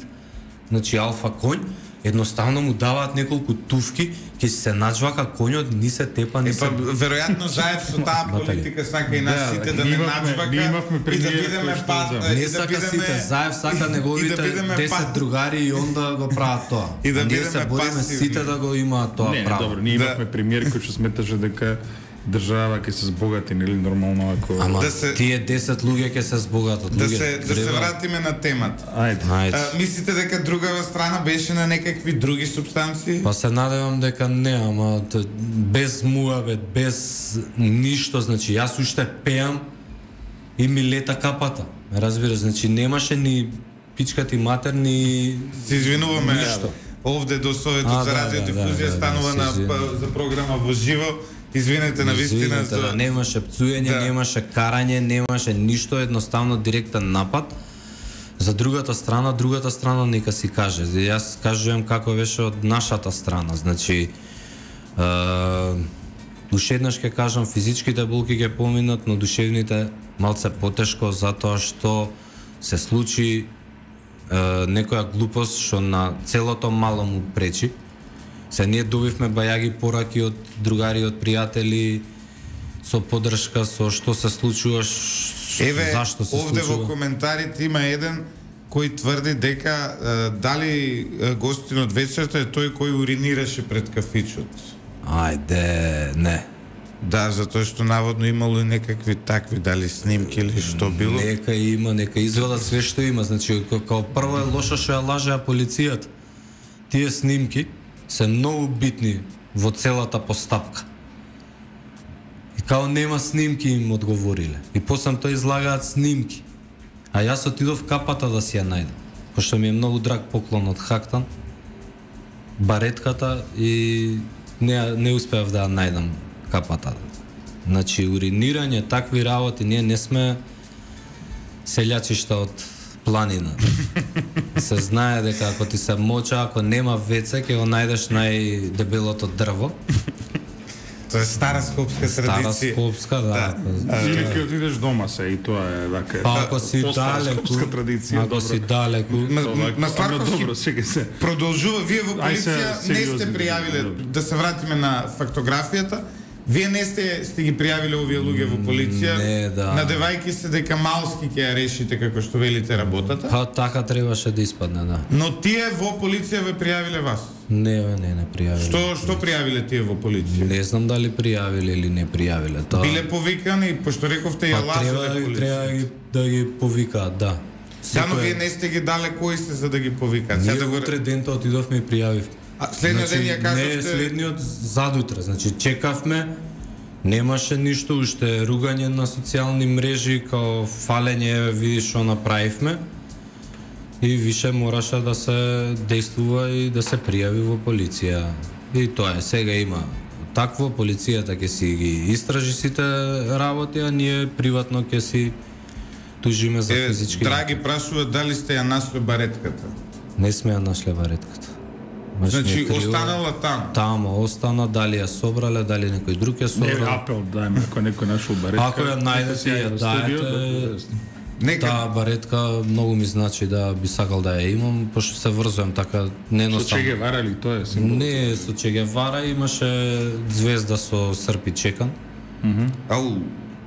значи алфа конј, едноставно му даваат неколку туфки, ќе се наџвака конјот, ни се тепа, ни се... Епа, веројатно заев со таа политика сака и нас Да, сите да, да ние не имавме- наџвака ние имавме и да премиер бидеме кој што, пат, да. и Не да сака бидеме сите, заев сака и неговите да бидеме десет пат- другари и онда го прават тоа. И да А ние бидеме се бориме пасивни. сите да го имаат тоа Не, не, право. добро, ние Да. имавме премиер кој што сметаше дека држава ќе се збогати, нели нормално ако... Ама Да се- тие десет луѓе ќе се збогатат. Да луѓе, се да се треба- вратиме на темата. Ајде. Ајде. А, мислите дека другава страна беше на некакви други супстанции? Па се надевам дека не, ама т- без муабет, без ништо, значи јас уште пеам и ми лета капата. Ме разбираш, значи немаше ни пичка ти матер, ни... Се извинуваме. Ништо. Овде до Советот А, за да, радиодифузија да, да, станува да, на се извинувам. па- за програма во живо. Извинете на вистина Извинете, за да, немаше пцуење, Да. немаше карање, немаше ништо, едноставно директен напад. За другата страна, другата страна нека си каже. Јас кажувам како беше од нашата страна, значи е, уште еднаш ќе кажам, физичките болки ќе поминат, но душевните малце потешко затоа што се случи е, некоја глупост што на целото мало му пречи. Се ние добивме бајаги пораки од другари, од пријатели, со поддршка, со што се случува, ш- Еве, зашто се овде случува. во коментарите има еден кој тврди дека е, дали е, гостин од вечерта е тој кој уринираше пред кафичот. Ајде, не. Да, затоа што наводно имало и некакви такви, дали снимки или што било. Нека има, нека изведат све што има. Значи, ка- као прво е лошо што ја лажеа полицијата. Тие снимки се многу битни во целата постапка. И као нема снимки им одговориле. И после тоа излагаат снимки. А јас отидов капата да си ја најдам. Пошто ми е многу драг поклон од Хактан. Баретката и не, не успеав да ја најдам капата. Значи, уринирање, такви работи, ние не сме селјачишта од планина. Се знае дека ако ти се моча, ако нема веце, ќе го најдеш најдебелото дрво. Тоа е стара скопска Стара традиција. скопска, да. Или ќе отидеш дома се и тоа е вака. Па ако си Постара далеку, скопска традиција, ако си добро. далеку, Ма, Тоа ма е- ама Сварковски добро, сега се. продолжува. Вие во Ај се, полиција не сериозно, сте пријавиле, добро. да се вратиме на фактографијата, вие не сте сте ги пријавиле овие луѓе во полиција, Не, да. надевајки се дека малски ќе ја решите како што велите работата, па така требаше да испадне, да. но тие во полиција ве пријавиле вас. Не, бе, не, не пријавиле. Што што пријавиле тие во полиција? Не знам дали пријавиле или не пријавиле. Тоа Биле повикани, пошто рековте ја па треба, лажеле треба полиција. ги, да ги повикаат, да. Да, но Секој- вие не сте ги дале кои се за да ги повикаат. Сега Ние да го... утре дента отидовме и пријавив. А, следниот ден ја Не, кажавте... следниот задутре, значи чекавме, немаше ништо, уште ругање на социјални мрежи, као фалење, еве видиш што направивме. И више мораше да се действува и да се пријави во полиција. И тоа е, сега има такво, полицијата ќе си ги истражи сите работи, а ние приватно ќе си тужиме за Е, физички. драги прашува дали сте ја нашле баретката. Не сме ја нашле варетката. Значи, останала там. Тамо остана, дали ја собрале, дали некој друг ја Не, собрал. апел дајме, ако некој нашол баретка. Ако ја најдете, ја во студиото, дајете. Нека Таа баретка многу ми значи да би сакал да ја имам, пошто се врзувам така Со неноставно. Че Гевара ли тоа е символ? Не, со Че Гевара имаше звезда со срп и чекан. Ау,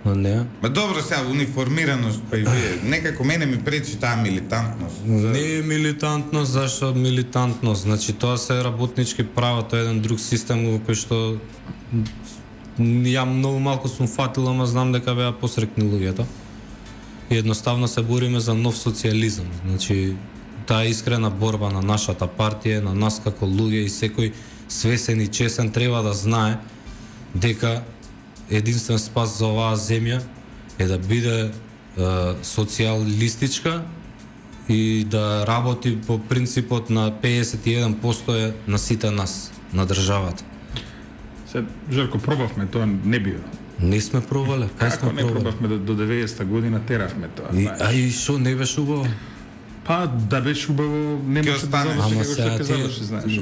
Но не. Ма добро сега униформираност, па и вие, некако мене ми пречи таа милитантност. Не е милитантност, зашто милитантност? Значи тоа се работнички права, тоа е еден друг систем во кој што ја многу малку сум фатил, ама знам дека беа посрекни луѓето. И едноставно се бориме за нов социјализам. Значи таа искрена борба на нашата партија, на нас како луѓе и секој свесен и чесен треба да знае дека единствен спас за оваа земја е да биде е, социјалистичка и да работи по принципот на педесет и еден проценти е на сите нас, на државата. Се, Жерко, пробавме, тоа не био. Не сме пробале, кај Како сме не пробале? пробавме до, до деветдесета година, теравме тоа. И, знаеш. а и шо не беше убаво? Па да беше убаво, не Ќе може да остане. заврши Ама како што сега ќе ти- заврши, знаеш.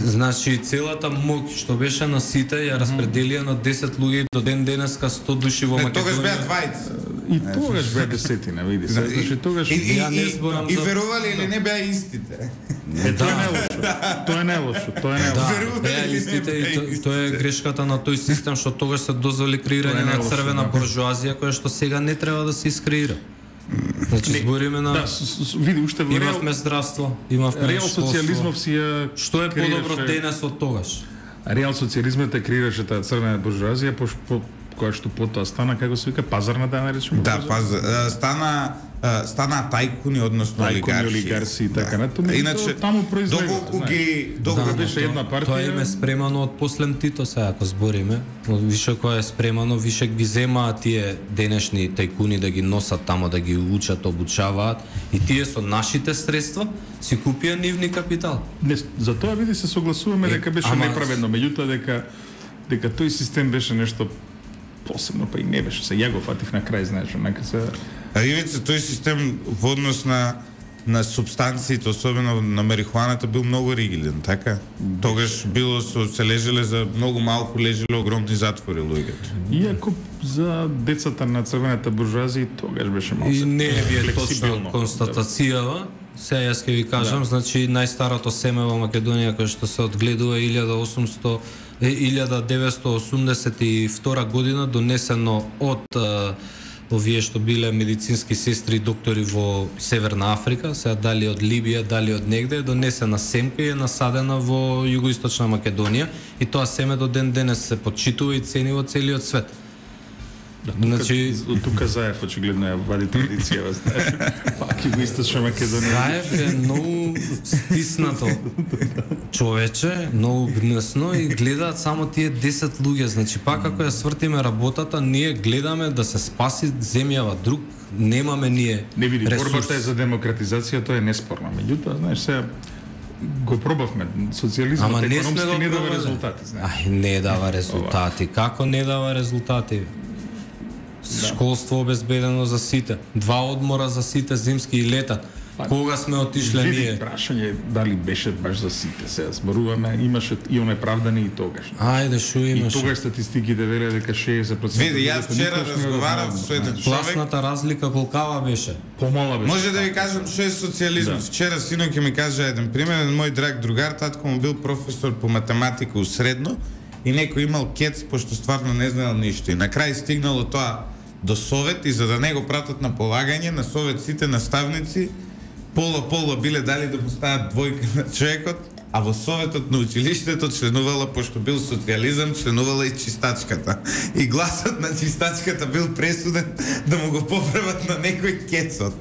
Значи целата моќ што беше на сите ја распределија на десет луѓе и до ден денеска сто души во Не, тогаш беа Македонија. двајца. И тогаш беа десетина, види се. Значи тогаш И, и, Ја не и, зборам и за- верували или не беа истите. е, тоа не е лошо. Тоа не е лошо, тоа не е Да, лошо. Верували беа или не истите и беа то- истите? тоа е грешката на тој систем што тогаш се дозволи креирање Тоа е на најлошо, црвена да. буржуазија која што сега не треба да се искреира. Значи збориме на Да, с, с, види уште во реал, имавме здравство, имавме реал школство. социјализмов си ја Што е креираше- подобро денес од тогаш? Реал социјализмот е креираше таа црвена буржуазија, по, по која што потоа стана, како се вика, пазарна да наречеме. Да, па а, стана а, стана тајкуни, односно Тајкуни, олигарси. олигарси и така натаму. Иначе, таму произлега, доколку знаеш. ги Доколку доколку беше но една тоа- партија. Тоа им е спремано од послем Тито, сега ако збориме. Но више кој е спремано, више ги земаат тие денешни тајкуни да ги носат тамо, да ги учат, обучаваат и тие со нашите средства си купија нивни капитал. Не, за тоа види се согласуваме Е, дека беше ама- неправедно, меѓутоа дека дека тој систем беше нешто посебно, па и не беше. Се ја го фатив на крај, знаеш, онака се. А ивица тој систем во однос на на субстанциите, особено на марихуаната, бил многу ригиден, така? Тогаш било со се лежеле за многу малку лежеле огромни затвори луѓето. Иако за децата на црвената буржуазија тогаш беше малку. И не е вие флексибилно. точно констатацијава. Сега јас ќе ви кажам, да. Значи најстарото семе во Македонија кој што се одгледува е илјада и осумсто е илјада деветстотини осумдесет и втора година, донесено од е, овие што биле медицински сестри и доктори во Северна Африка, сега дали од Либија, дали од негде, е донесена семка и е насадена во југоисточна Македонија и тоа семе до ден денес се почитува и цени во целиот свет. Да, тука, Значи- од тука Заев очигледно ја вади традицијава, знаеш. Пак југоисточна Македонија. Заев е многу стиснато човече, многу гнесно и гледаат само тие десет луѓе. Значи, пак ако ја свртиме работата, ние гледаме да се спаси земјава, друг немаме ние Не види, ресурс. борбата е за демократизација, тоа е неспорно. Меѓутоа, знаеш, сега го пробавме. Социјализмот Ама не сме економски го не дава пробале. резултати, знаеш. Ај, не дава резултати. Како не дава резултати? Школство обезбедено за сите, два одмора за сите, зимски и летен. Кога сме отишле Види, ние? прашање дали беше баш за сите. Сега зборуваме, имаше и онеправдани и тогаш. Ајде, шо И имаш? тогаш статистиките велеа дека шеесет проценти. Види, јас вчера разговарав со еден човек. Пласната разлика колкава беше? Помала беше. Може да ви кажам што е социјализмот. Да. Вчера синоќ ми кажа еден пример, еден мој драг другар, татко му бил професор по математика у средно и некој имал кец, пошто стварно не знаел ништо. И на крај стигнало тоа до совет и за да не го пратат на полагање, на совет сите наставници поло-поло биле дали да му стават двојка на човекот, а во советот на училиштето членувала, пошто бил социјализам, членувала и чистачката. И гласот на чистачката бил пресуден да му го поправат на некој кецот.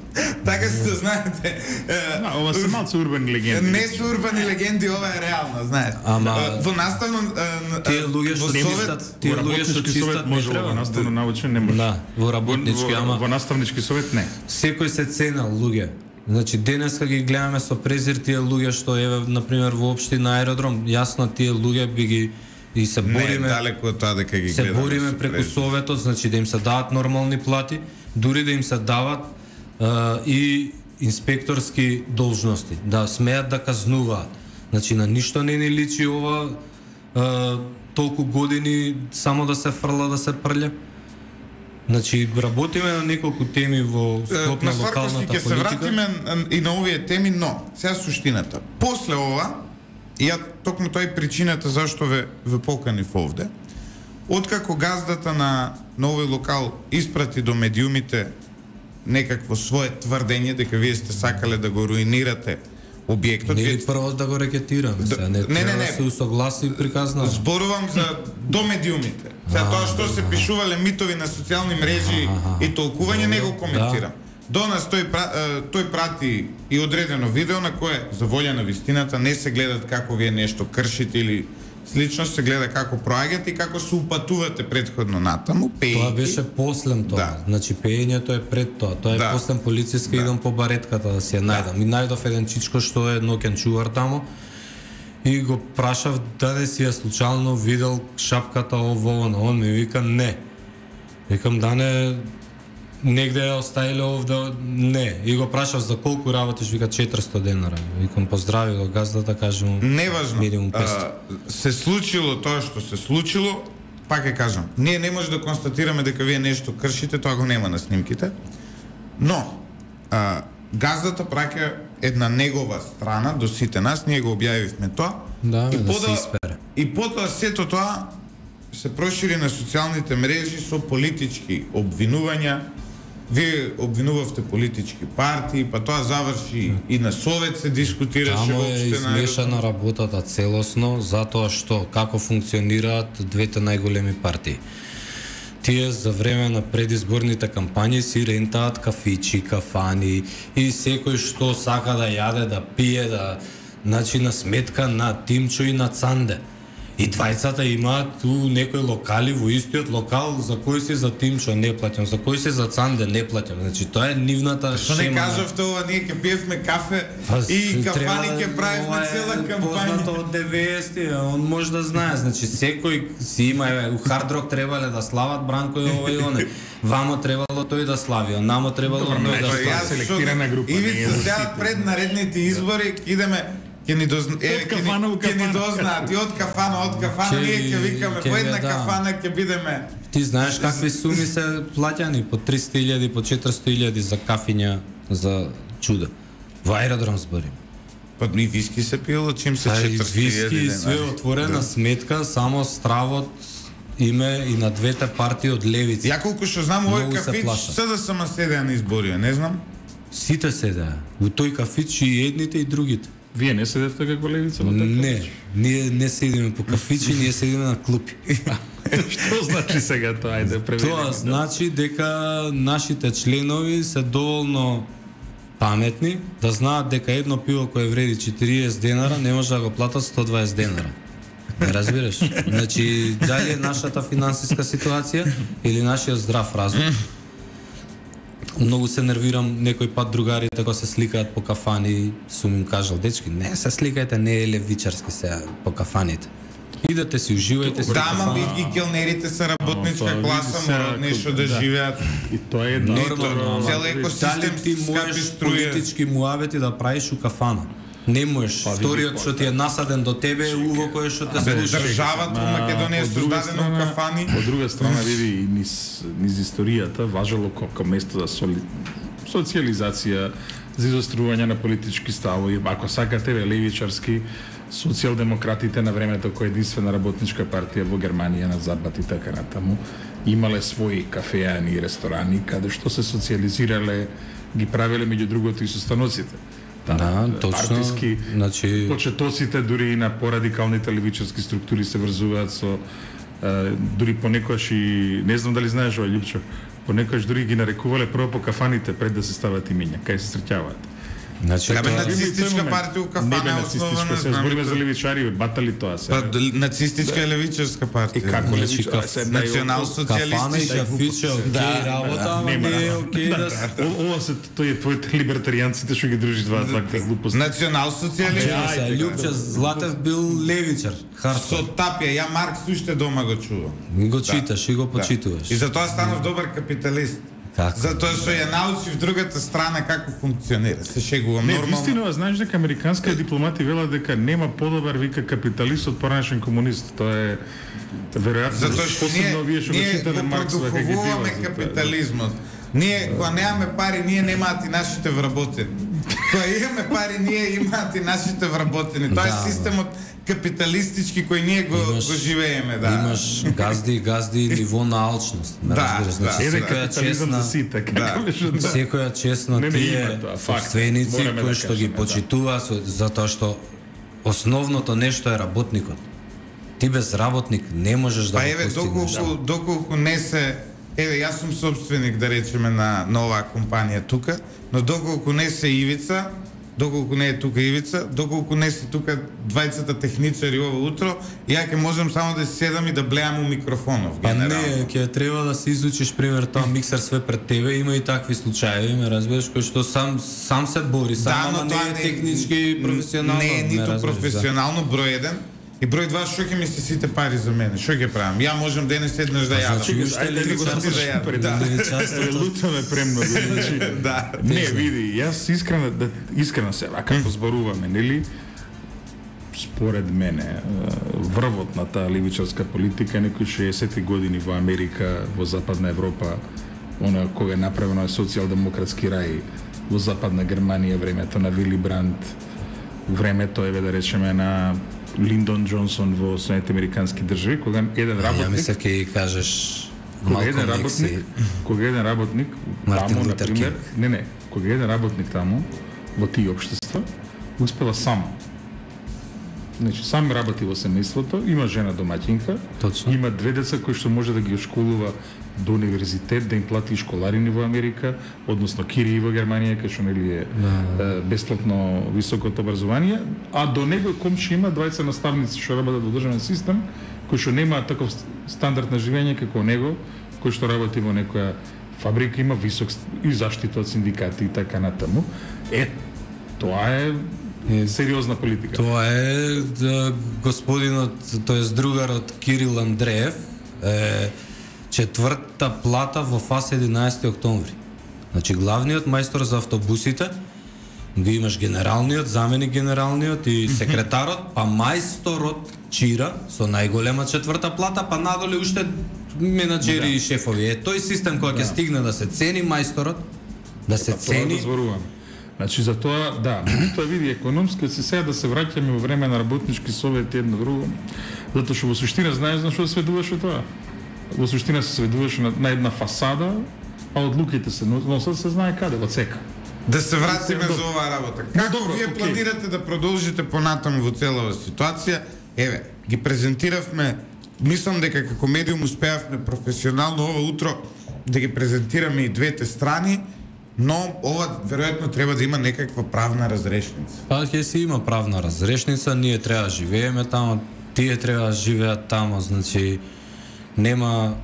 Така се знаете. е, Да, ова се малку урбани легенди. Не се урбани легенди, ова е реално, знаеш. Ама- Е, во наставно е, Тие луѓе што во не совет- мислат, тие Во луѓе што работнички совет чистат не може, во треба. наставно научен не може. Да, во работнички, Во- ама во наставнички совет не. секој се ценел луѓе. Значи денеска ги гледаме со презир тие луѓе што еве на пример во општина Аеродром, јасно тие луѓе би ги и се Не, бориме далеко од тоа дека ги се гледаме. бориме со преку презир. советот, значи да им се дават нормални плати, дури да им се дават а, и инспекторски должности, да смеат да казнуваат. Значи на ништо не ни личи ова а, толку години само да се фрла, да се прља. Значи работиме на неколку теми во склоп на На Сварковски локалната ќе се политика. вратиме н- и на овие теми, но сега суштината. После ова, и ја токму тоа е причината зашто ве, ве поканив овде, откако газдата на на овој локал испрати до медиумите некакво свое тврдење дека вие сте сакале да го руинирате објектот. Не е прво да го рекетираме, сега не, не, не, не, се усогласи и приказна. Зборувам за до медиумите. Сега тоа што се пишувале митови на социјални мрежи и толкување не го коментирам. До нас тој тој прати и одредено видео на кое за волја на вистината не се гледат како вие нешто кршите или слично, се гледа како проаѓате и како се упатувате претходно натаму, пеејќи. Тоа беше послем тоа. Да. Значи пеењето е пред тоа. Тоа е да. Послем полициска, да. Идам по баретката да си ја најдам. Да. И најдов еден чичко што е ноќен чувар таму и го прашав дали си ја случајно видел шапката ово, оно. Он ми вика не. Викам да не негде ја оставиле овде, не. И го прашав за колку работиш, вика четиристо денара. Викам поздрави го газдата, кажам неважно. Минимум петстотини. Се случило тоа што се случило, пак ќе кажам. Ние не може да констатираме дека вие нешто кршите, тоа го нема на снимките. Но а, газдата праќа една негова страна до сите нас, ние го објавивме тоа. Да, и да пода, се испере. И потоа сето тоа се прошири на социјалните мрежи со политички обвинувања. Вие обвинувавте политички партии, па тоа заврши и на Совет се дискутираше воопшто. Таму е измешана работата целосно, затоа што како функционираат двете најголеми партии. Тие за време на предизборните кампањи си рентаат кафичи, кафани и секој што сака да јаде, да пие, да значи на сметка на Тимчо и на Цанде. И двајцата имаат ту некои локали во истиот локал, за кој си за Тимчо не плаќам, за кој си за Цанде не плаќам. Значи тоа е нивната шема. Што не кажавте ова, ние ќе пиевме кафе Аз, и кафани ќе правиме цела кампања. Познато од деветдесети, он може да знае. Значи секој си има, у Хард Рок требале да слават Бранко и ова и оне. Вамо требало тој да слави, а намо требало тој да слави. Селектирана група. И ви сега пред наредните избори идеме ќе ни дозна, е, ќе ни, ќе ни дознаат и од кафана, од кафана, ние ќе викаме по една кафана ќе бидеме. Ти знаеш какви суми се плаќани, по триста илјади, по четиристо илјади за кафиња, за чуда. Во аеродром зборим. Па и виски се пиело, чим се четиристо илјади. Виски и све отворена да. Сметка, само стравот име и на двете партии од левица. Ја колку што знам, овој кафич се да сама седеа на изборија, не знам. Сите седеа. Во тој кафич и едните и другите. Вие не седете како левица? Не, ние не седиме по кафичи, ние седиме на клупи. Што значи сега тоа? Ајде, преведи. Тоа значи дека нашите членови се доволно паметни да знаат дека едно пиво кое вреди четириесет денара не може да го платат сто дваесет денара. Не разбираш? Значи, дали е нашата финансиска ситуација или нашиот здрав разум? Многу се нервирам некој пат другарите кога се сликаат по кафани, сум им кажал, дечки, не се сликајте, не е левичарски сега по кафаните. Идете си, уживајте си. Да, ма и келнерите се работничка класа, морат нешто да живеат. И тоа е нормално. Цел екосистем ти можеш политички муавети да правиш у кафана. Не можеш. Вториот што ти е насаден до тебе е уво кој што те слуша. Државата во Македонија е создадена у кафани. Од друга страна, види, и низ, низ историјата важело како место за соли... социализација, за изострување на политички ставови. Ако сакате левичарски, социјалдемократите на времето кој единствена работничка партија во Германија на запад и така натаму имале своји кафеани и ресторани каде што се социализирале, ги правеле меѓу другото и со станоците. Да, да, точно. Партиски, значи... почетоците дури и на порадикалните левичарски структури се врзуваат со е, дури понекогаш и не знам дали знаеш ова, Љупчо, понекогаш дури ги нарекувале прво по кафаните пред да се стават имиња, кај се среќаваат. Значи, Кабе тоа... нацистичка партија у кафана е основана, се збориме за левичари, батали тоа се. Па нацистичка е левичарска партија. И како левичарска се национал-социјалистичка фича, окей, работа, ама не е окей да. Ова се тој е твоите либертаријанците што ги дружи два вакви глупости. Национал-социјалистичка. Љупча Златев бил левичар. Со Тапија, ја Маркс уште дома го чувам. Го читаш и го почитуваш. И затоа станав добар капиталист. Како? Затоа што ја научив другата страна како функционира. Се шегувам не, нормално. Не, вистина, знаеш дека американска дипломати велат дека нема подобар вика капиталист од поранешен комунист. Тоа е веројатно затоа што ние, ние продуховуваме капитализмот. Ние кога немаме пари, ние немаат и нашите вработени. Кога имаме пари, ние имаат и нашите вработени. Тоа е Да, системот капиталистички кој ние го, Имаш- го живееме, да. Имаш газди, газди и ниво на алчност. Ме Да, разбираш, значи да. Еде секоја капитализам честна за сите, Да. како беше, да. секоја честна Не, не, тие има тоа, факт. собственици Мораме кои да што ги кажеме, да. почитуваат со- затоа што основното нешто е работникот. Ти без работник не можеш да Па го еве, постигнеш. доколку, доколку не се... Еве, јас сум собственик, да речеме, на, на оваа компанија тука, но доколку не се Ивица, доколку не е тука Ивица, доколку не се тука двајцата техничари ова утро, ја ќе можам само да седам и да блеам у микрофонов, Па генерално. не, ќе треба да се изучиш пример тоа миксер све пред тебе, има и такви случаи, ме разбираш, кој што сам сам се бори, сам Да, ама но не тоа е не технички и професионално. Не е ме ниту разбираш, да. професионално, број еден. И број два, што ќе ми се сите пари за мене? Што ќе правам? Ја можам денес еднаш да јадам. значи, уште Ајде, ли три го сати да започнем јадам. пред Да. левичарството? Лутаме премногу, значи. Да. Не, види, јас искрено да искрено се вака позборуваме, нели? Според мене, е, врвот на таа левичарска политика е некои шеесетти години во Америка, во Западна Европа, она кога е направено е социјалдемократски рај во Западна Германија, времето на Вили Бранд, времето еве да речеме на Линдон Џонсон во Соединените американски држави, кога еден Ја работник мислев ќе ги кажеш кога еден Малком работник, Икс кога еден работник Мартин таму, Лутер например, Кинг. не, не, кога еден работник таму во тие општества успела сам. Значи, сам работи во семејството, има жена домаќинка, Точно. има две деца кои што може да ги школува до универзитет, да им плати школарини во Америка, односно кирии во Германија, кај што нели е, е бесплатно високото образование, а до него комши има двајца наставници што работат во државен систем, кои што немаат таков стандард на живење како него, кој што работи во некоја фабрика, има висок ст- и заштита од синдикати и така натаму. Е, тоа е сериозна политика. Тоа е да, господинот, тоест другарот Кирил Андреев, е четврта плата во ФАС единаесети октомври. Значи главниот мајстор за автобусите, го имаш генералниот, заменик генералниот и секретарот, па мајсторот Чира со најголема четврта плата, па надоле уште менаџери и шефови. Е тој систем кој ќе стигне да се цени мајсторот, да се Тоа цени. да зборувам. Значи за тоа, да, меѓутоа види економски се сега да се враќаме во време на работнички совети едно друго, затоа што во суштина знаеш на што се сведуваше тоа. Во суштина се сведуваше на, на една фасада, а одлуките се носат се знае каде, во цека. Да се вратиме Добро. за оваа работа. Како добро, вие окей. планирате да продолжите понатаму во целава ситуација? Еве, ги презентиравме, мислам дека како медиум успеавме професионално ова утро да ги презентираме и двете страни, но ова веројатно треба да има некаква правна разрешница. Па ќе си има правна разрешница, ние треба да живееме тамо, тие треба да живеат тамо, значи нема,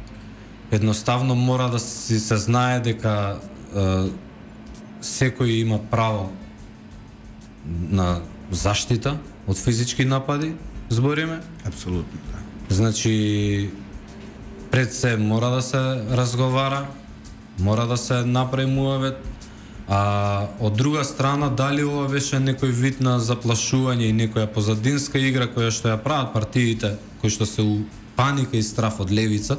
едноставно мора да си се знае дека е, секој има право на заштита од физички напади, збориме. Апсолутно, да. Значи пред се мора да се разговара, мора да се направи муавет, а од друга страна дали ова беше некој вид на заплашување и некоја позадинска игра која што ја прават партиите кои што се у паника и страф од левица,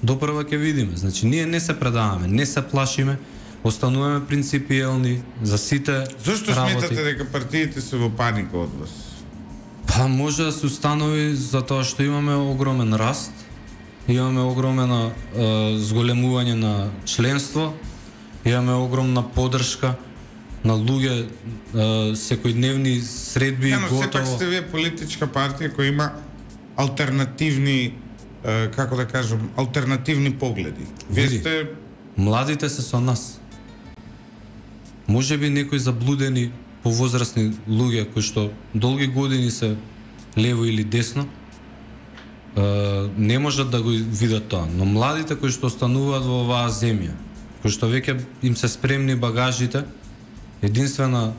допрва ќе видиме. Значи ние не се предаваме, не се плашиме, остануваме принципиелни за сите Зошто работи. сметате дека партиите се во паника од вас? Па може да се установи затоа што имаме огромен раст, имаме огромена е, зголемување на членство, имаме огромна поддршка на луѓе, е, секојдневни средби Ja, но сепак готово. сте вие политичка партија која има алтернативни, е, како да кажам, алтернативни погледи. Вие Види. сте Младите се со нас. Може би некои заблудени повозрастни луѓе кои што долги години се лево или десно, е, не можат да го видат тоа, но младите кои што остануваат во оваа земја, кои што веќе им се спремни багажите, единствена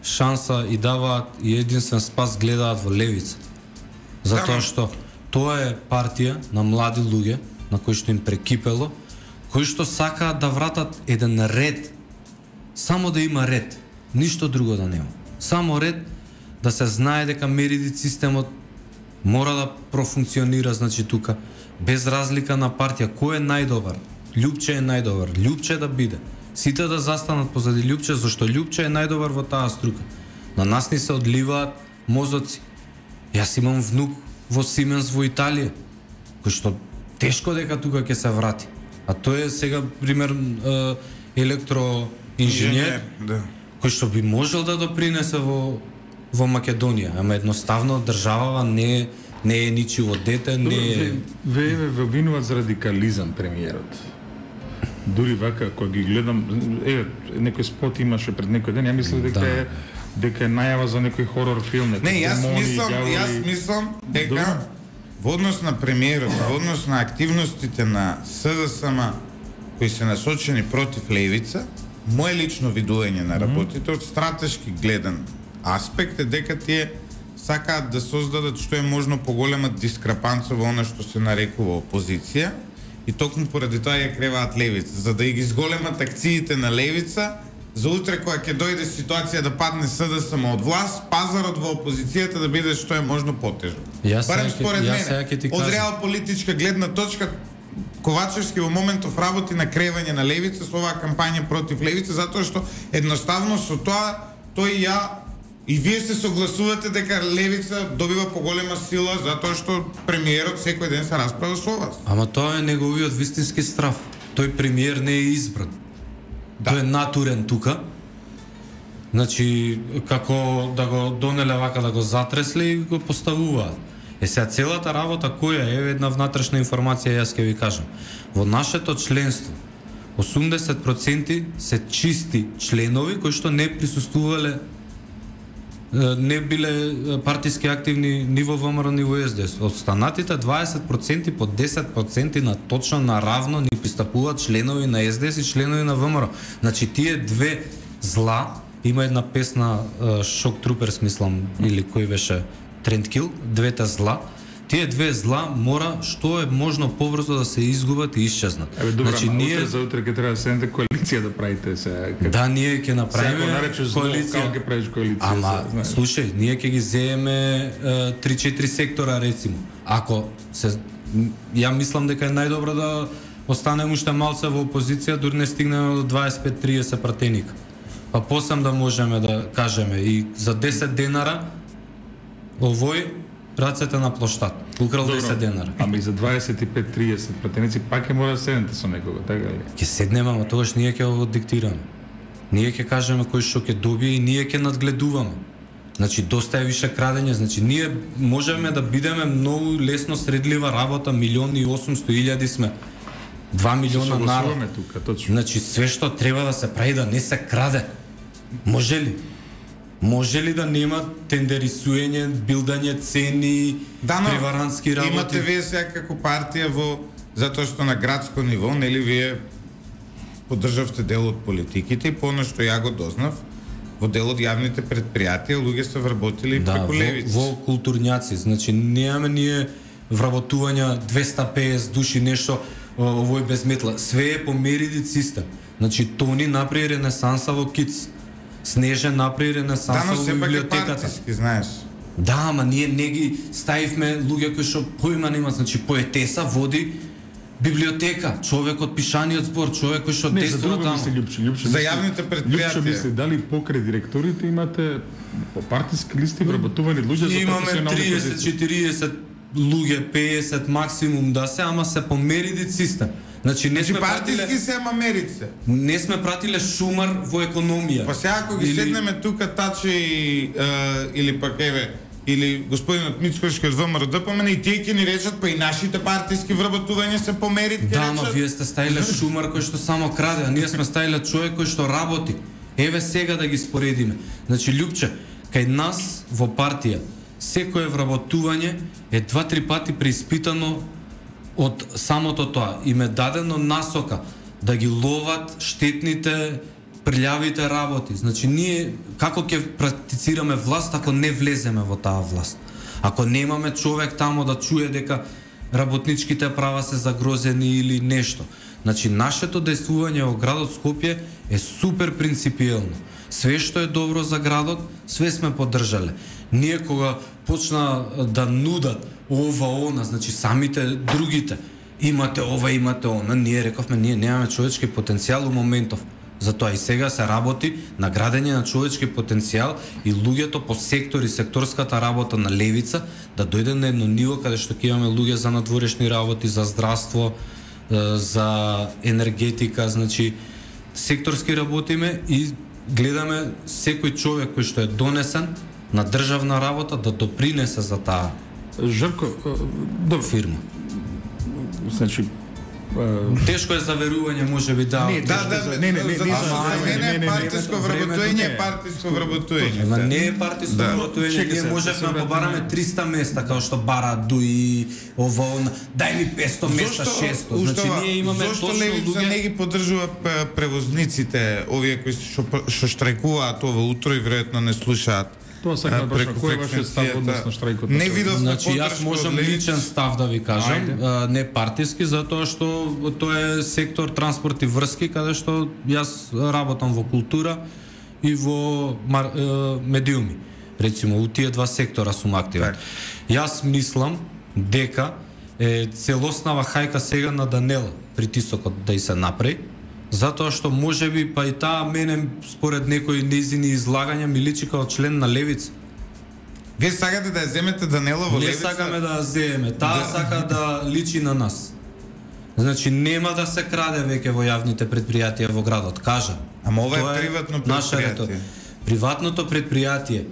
шанса и даваат и единствен спас гледаат во левица. Затоа Да, што тоа е партија на млади луѓе на кои што им прекипело, кои што сакаат да вратат еден ред, само да има ред, ништо друго да нема. Само ред, да се знае дека меридит системот мора да профункционира, значи тука, без разлика на партија, кој е најдобар. Лјупче е најдобар, Лјупче да биде. Сите да застанат позади Лјупче, зашто Лјупче е најдобар во таа струка. На нас ни се одливаат мозоци. Јас имам внук во Сименс во Италија, кој што тешко дека тука ќе се врати. А тој е сега, пример, електроинженер, да. кој што би можел да допринесе во во Македонија, ама едноставно државава не не е ничиво дете, не е... Ве ве обвинуваат за радикализам премиерот. Дури вака, кога ги гледам, еве, некој спот имаше пред некој ден, ја мислев дека е дека е најава за некој хорор филм. Не, јас мислам, јас мислам дека во однос на премиерот, во однос на активностите на СДСМ кои се насочени против левица, моje лично видување на работите од стратешки гледан аспект е дека тие сакаат да создадат што е можно поголема дискрапанца во она што се нарекува опозиција и токму поради тоа ја креваат левица, за да ги зголемат акциите на левица, за утре кога ќе дојде ситуација да падне СДСМ од власт, пазарот во опозицијата да биде што е можно потежок. Барем според мене, од реал политичка гледна точка, Ковачевски во моментов работи на кревање на левица со оваа кампања против левица, затоа што едноставно со тоа тој ја и вие се согласувате дека левица добива поголема сила затоа што премиерот секој ден се расправа со вас. Ама тоа е неговиот вистински страв. Тој премиер не е избран. Да. Тој е натурен тука. Значи, како да го донеле вака да го затресле и го поставуваат. Е сега целата работа која е една внатрешна информација, јас ќе ви кажам. Во нашето членство осумдесет проценти се чисти членови кои што не присуствувале, не биле партиски активни ни во ВМРО ни во СДС. Останатите дваесет проценти по десет проценти на точно наравно ни пристапуваат членови на СДС и членови на ВМРО. Значи тие две зла, има една песна Шок Труперс, мислам, или кој беше Трендкил, двете зла, тие две зла мора што е можно побрзо да се изгубат и исчезнат. Еве добра, значи ние за утре ќе треба да седнете коалиција да правите се. Да, ние ќе направиме коалиција. Како ќе правиш коалиција? Ама слушај, ние ќе ги земеме три-четири сектора рецимо. Ако се ја мислам дека е најдобро да останеме уште малце во опозиција, дури не стигнеме до дваесет пет триесет пратеника. Па посам да можеме да кажеме и за десет денара овој рацете на плоштад. Украл десет денара. Ама и за дваесет и пет триесет пратеници пак ќе мора да седнете со некого, така ли? Ќе седнеме, ама тогаш ние ќе го диктираме. Ние ќе кажеме кој што ќе добие и ние ќе надгледуваме. Значи доста е више крадење, значи ние можеме да бидеме многу лесно средлива работа, милион и осумсто илјади сме. два милиона народ. Тука, точно. Значи све што треба да се прави да не се краде. Може ли? Може ли да нема тендерисуење, билдање цени, да, но, преварантски работи? Имате вие сега како партија во затоа што на градско ниво, нели вие поддржавте дел од политиките и по она што ја го дознав, во дел од јавните предпријатија луѓе се вработили да, преку левици. Во, во културњаци, значи немаме ние вработувања двеста песет души нешто овој без метла. Све е по мериди систем. Значи Тони направи ренесанса во КИЦ. Снежен направи ренесанса да, во библиотеката. Партиски, знаеш. Да, ама ние не ги ставивме луѓе кои што поима нема, значи поетеса води библиотека, човек од пишаниот збор, човек кој што действува таму. Мисли, Лјупче, Лјупче, за јавните предпријатија. Лјупче мисли, дали покрај директорите имате по партиски листи вработувани луѓе за имаме триесет-четириесет луѓе, песет максимум да се, ама се по мериди систем. Значи не значи, сме партиски пратиле, се, ама мерице. Не сме пратиле шумар во економија. Па сега ако ги или... седнеме тука Таче и uh, или пак еве или господинот Мицкошки од ВМРО да помене и тие ќе ни речат, па и нашите партиски вработувања се по мерит. Да, ама вие сте ставиле шумар кој што само краде, а ние сме ставиле човек кој што работи. Еве сега да ги споредиме. Значи Лјупче, кај нас во партија секое вработување е два-три пати преиспитано од самото тоа. Им е дадено насока да ги ловат штетните, прљавите работи. Значи ние како ќе практицираме власт ако не влеземе во таа власт? Ако немаме човек тамо да чуе дека работничките права се загрозени или нешто. Значи нашето действување во градот Скопје е супер принципиелно. Све што е добро за градот, све сме поддржале. Ние кога почна да нудат ова, она, значи самите другите, имате ова, имате она, ние рековме, ние немаме човечки потенцијал у моментов. Затоа и сега се работи на градење на човечки потенцијал и луѓето по сектори, секторската работа на левица да дојде на едно ниво каде што ќе имаме луѓе за надворешни работи, за здравство, за енергетика, значи секторски работиме и гледаме секој човек кој што е донесен на државна работа да допринесе за таа Жарко, добро фирма. Значи тешко е за верување, можеби да. Не, Да, да, не, не, не, не, за не, мене е не, партиско вработување, е партиско вработување. Ма не е партиско вработување, ние можевме да побараме триста места како што бара Дуи, ово, дај ми петсто места, шесто. Значи ние имаме зошто точно левица луѓе. не ги поддржува превозниците, овие кои што што штрајкуваат ова утро и веројатно не слушаат? Тоа сакам да прашам, кој е вашиот став односно штрајкот? Не видов Значи јас можам личен став да ви кажам, а, не партиски, затоа што тоа е сектор транспорт и врски каде што јас работам во култура и во мар, е, медиуми. Рецимо, у тие два сектора сум активен. Јас мислам дека е целоснава хајка сега на Данела притисокот да и се направи, затоа што можеби па и таа мене според некои незини излагања ми личи како член на левица. Вие сакате да ја земете Данела во Не левица? сакаме да ја земеме, таа сака да личи на нас. Значи нема да се краде веќе во јавните предпријатија во градот, кажа. Ама ова Тоа е приватно наша предпријатие. рето. Приватното предпријатие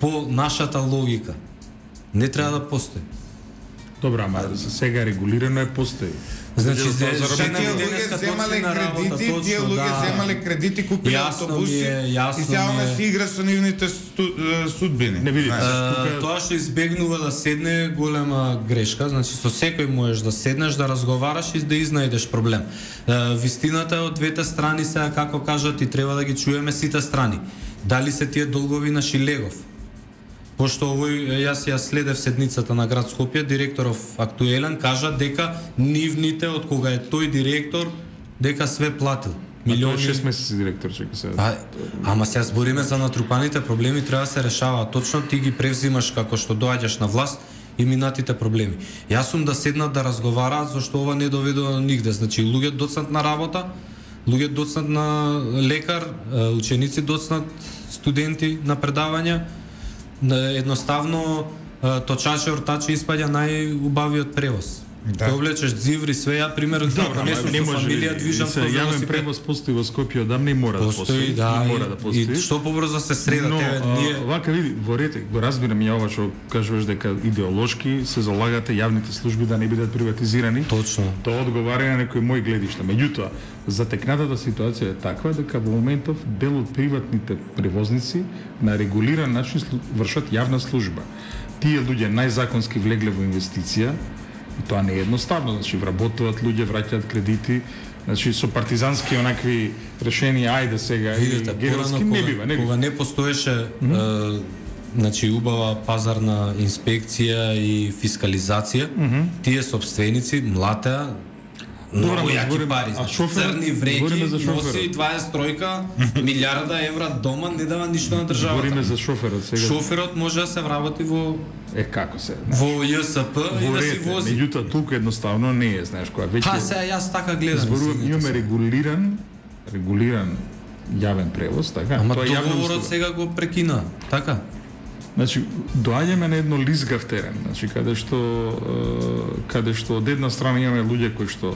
по нашата логика не треба да постои. Добра, ама за сега регулирано е постои. Значи, За- зе- за- Што Жена тие ми луѓе денеска земале точно на работа, кредити, тие точно, луѓе да. земале кредити, купиле Јасно автобуси ми е, јасно и сега ми е. она си игра со нивните сту- е, судбини. Не видите. Знаеш. Е, тоа што избегнува да седне голема грешка, значи со секој можеш да седнеш, да разговараш и да изнајдеш проблем. Е, вистината е од двете страни, сега како кажат и треба да ги чуеме сите страни. Дали се тие долгови на Шилегов? Пошто овој, јас ја следев седницата на град Скопје, директоров актуелен кажа дека нивните од кога е тој директор дека све платил. Милиони шест месеци директор чека се. А, ама сега збориме за натрупаните проблеми, треба да се решаваат. Точно ти ги превзимаш како што доаѓаш на власт и минатите проблеми. Јас сум да седнат да разговараат зашто ова не доведува нигде. Значи луѓе доцнат на работа, луѓе доцнат на лекар, ученици доцнат, студенти на предавања. Едноставно точачи, ортачи испаѓа најубавиот превоз. Да. Те облечеш дзиври, све, ја пример, Добро, не ама сум не со може фамилија, движам со се јавен велосипед. превоз постои во Скопје одамна и мора да Постои, постои. да, и мора да постои. и што побрзо се среда, Но, тебе, а, ние... вака види, во рете, го разбирам ја ова што кажуваш дека идеолошки се залагате јавните служби да не бидат приватизирани. Точно. Тоа одговара на некои мои гледишта. Меѓутоа, затекнатата ситуација е таква дека во моментов дел од приватните превозници на регулиран начин вршат јавна служба. Тие луѓе најзаконски влегле во инвестиција, и тоа не е едноставно, значи вработуваат луѓе, враќаат кредити, значи со партизански онакви решенија, ајде сега Видете, и геројски порано, не кога, бива, не бива. кога не постоеше mm -hmm. е, значи убава пазарна инспекција и фискализација, mm -hmm. тие собственици млатеа Добре, многу ама јаки збориме- пари, а значи шоферот? црни Збориме вреки, за шоферот. носи дваесет тројка, милиарда евра дома, не дава ништо на Збориме државата. за шоферот сега. Шоферот може да се вработи во Е како се? во ЈСП и Во да си рете, вози. меѓутоа толку едноставно не е, знаеш, која веќе Па сега јас така гледам. зборувам, извинете имаме се. регулиран регулиран јавен превоз, така? Ама Тоа е јавна договорот услуга. сега го прекина, така? Значи, доаѓаме на едно лизгав терен, значи каде што е, каде што од една страна имаме луѓе кои што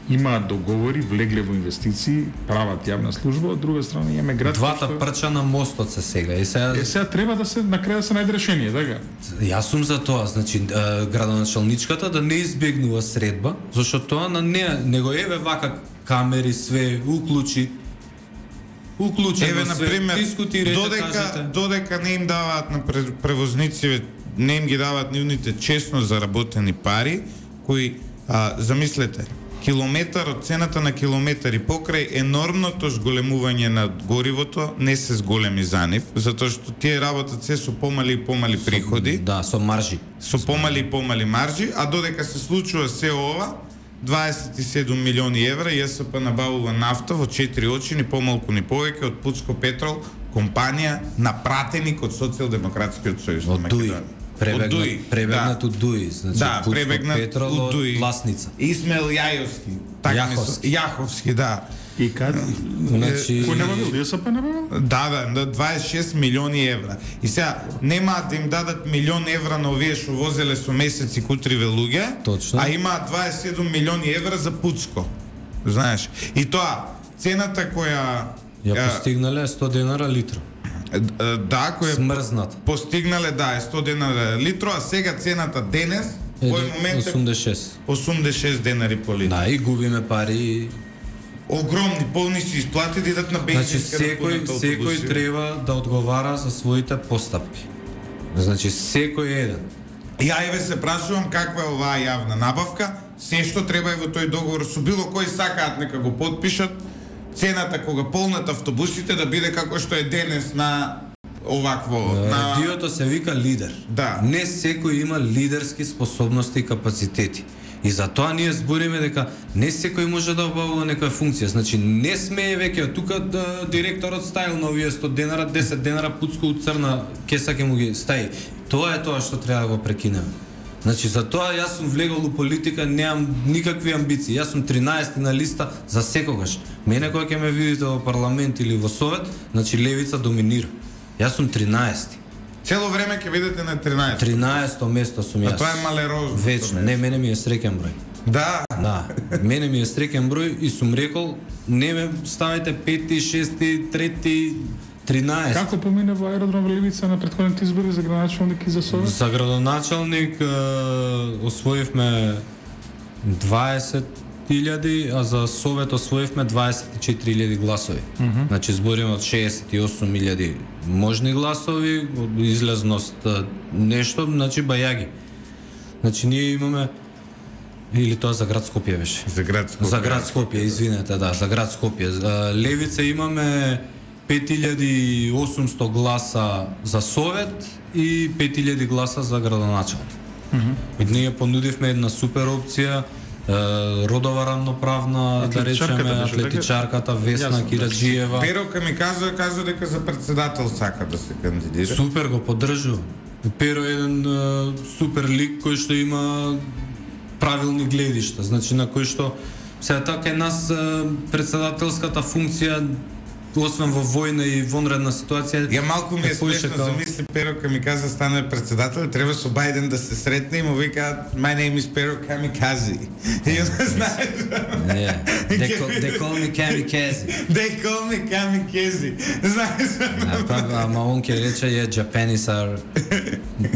имаат договори, влегле во инвестиции, прават јавна служба, од друга страна имаме град Двата кој што... прча на мостот се сега. И сега Е, сега треба да се на крај да се најде решение, така? Јас сум за тоа, значи е, градоначалничката да не избегнува средба, зашто тоа на неа, него еве вака камери све уклучи. Уклучено Еве на све, пример, дискутирајте, додека кажете. додека не им даваат на пре- превозници, не им ги даваат нивните честно заработени пари, кои а, замислете, километар од цената на километар и покрај енормното зголемување на горивото не се зголеми за нив, затоа што тие работат се со помали и помали приходи, Да, со маржи. со помали и помали маржи, а додека се случува се ова, дваесет и седум милиони евра ЈСП набавува нафта во четири очи, ни помалку ни повеќе од Пуцко Петрол, компанија на пратеник од Социјалдемократскиот сојуз на Од Дуи. Македонија. Од Пребегнат, Дуи, пребегнат да. од Дуи, значи Да, Пуцко пребегнат Петрол од од Дуи. Власница. Исмел Јајовски. Така ми се- Јаховски. Јаховски, да. И кад? Значи, Кој набавил? ДСП набавил? Да, да, на дваесет и шест милиони евра. И сега немаат да им дадат милион евра на овие што возеле со месеци кутриве луѓе, Точно. а имаат дваесет и седум милиони евра за пуцко. Знаеш? И тоа цената која ја ја, постигнале сто денара литро. е, е, да, која Смрзнат. постигнале да е сто денара литро, а сега цената денес кој момент е осумдесет и шест. осумдесет и шест денари по литро. Да, и губиме пари. Огромни, полни се исплати да идат на Значи бензинска секој да пунат секој автобуси. треба да одговара за своите постапки. Значи секој еден. Ја еве се прашувам каква е оваа јавна набавка, се што треба е во тој договор со било кој сакаат нека го потпишат, цената кога полнат автобусите да биде како што е денес на овакво на Радиото се вика лидер. Да. Не секој има лидерски способности и капацитети. И затоа ние збориме дека не секој може да обавува некоја функција. Значи не смее веќе тука да, директорот ставил на овие сто денара, десет денара пуцко од црна кеса ќе му ги стави. Тоа е тоа што треба да го прекинеме. Значи за тоа јас сум влегол у политика, немам никакви амбиции. Јас сум тринаесети на листа за секогаш. Мене кога ќе ме видите во парламент или во совет, значи левица доминира. Јас сум тринаесети. цело време ќе видите на тринаесет. тринаесето место сум јас. А тоа е малерозно. Вечно. Не, мене ми е среќен број. Да. Да, мене ми е среќен број и сум рекол, не ме ставите пети, шести, трети, тринаесет. Како помине во аеродром Левица на претходните избори за градоначалник и за совет? За градоначалник е, освоивме дваесет илјади, а за совет освоивме дваесет и четири илјади гласови. Mm -hmm. Значи збориме од шеесет и осум илјади можни гласови, од излезност е, нешто, значи бајаги. Значи ние имаме или тоа за град Скопје беше. За град Скопје. За град Скопје, извинете, да, за град Скопје. За Левица имаме пет илјади и осумсто гласа за совет и пет илјади гласа за градоначалник. Mm -hmm. Ние понудивме една супер опција, е, родова рамноправна, да речеме, атлетичарката Весна Кираджиева. Перока ми кажа, кажа дека за председател сака да се кандидира. Супер го поддржува. Перо е еден е, супер лик кој што има правилни гледишта, значи на кој што сега така е нас е, председателската функција освен во војна и вонредна ситуација. Ја малку ми е смешно, као... замисли Перока ми каза стане председател, треба со Бајден да се сретне и му вика my name is Pero Kamikaze. И он знаеш. Не. They call, they call me Kamikaze. They call me Kamikaze. Знаеш. А па ама он ќе рече е Japanese are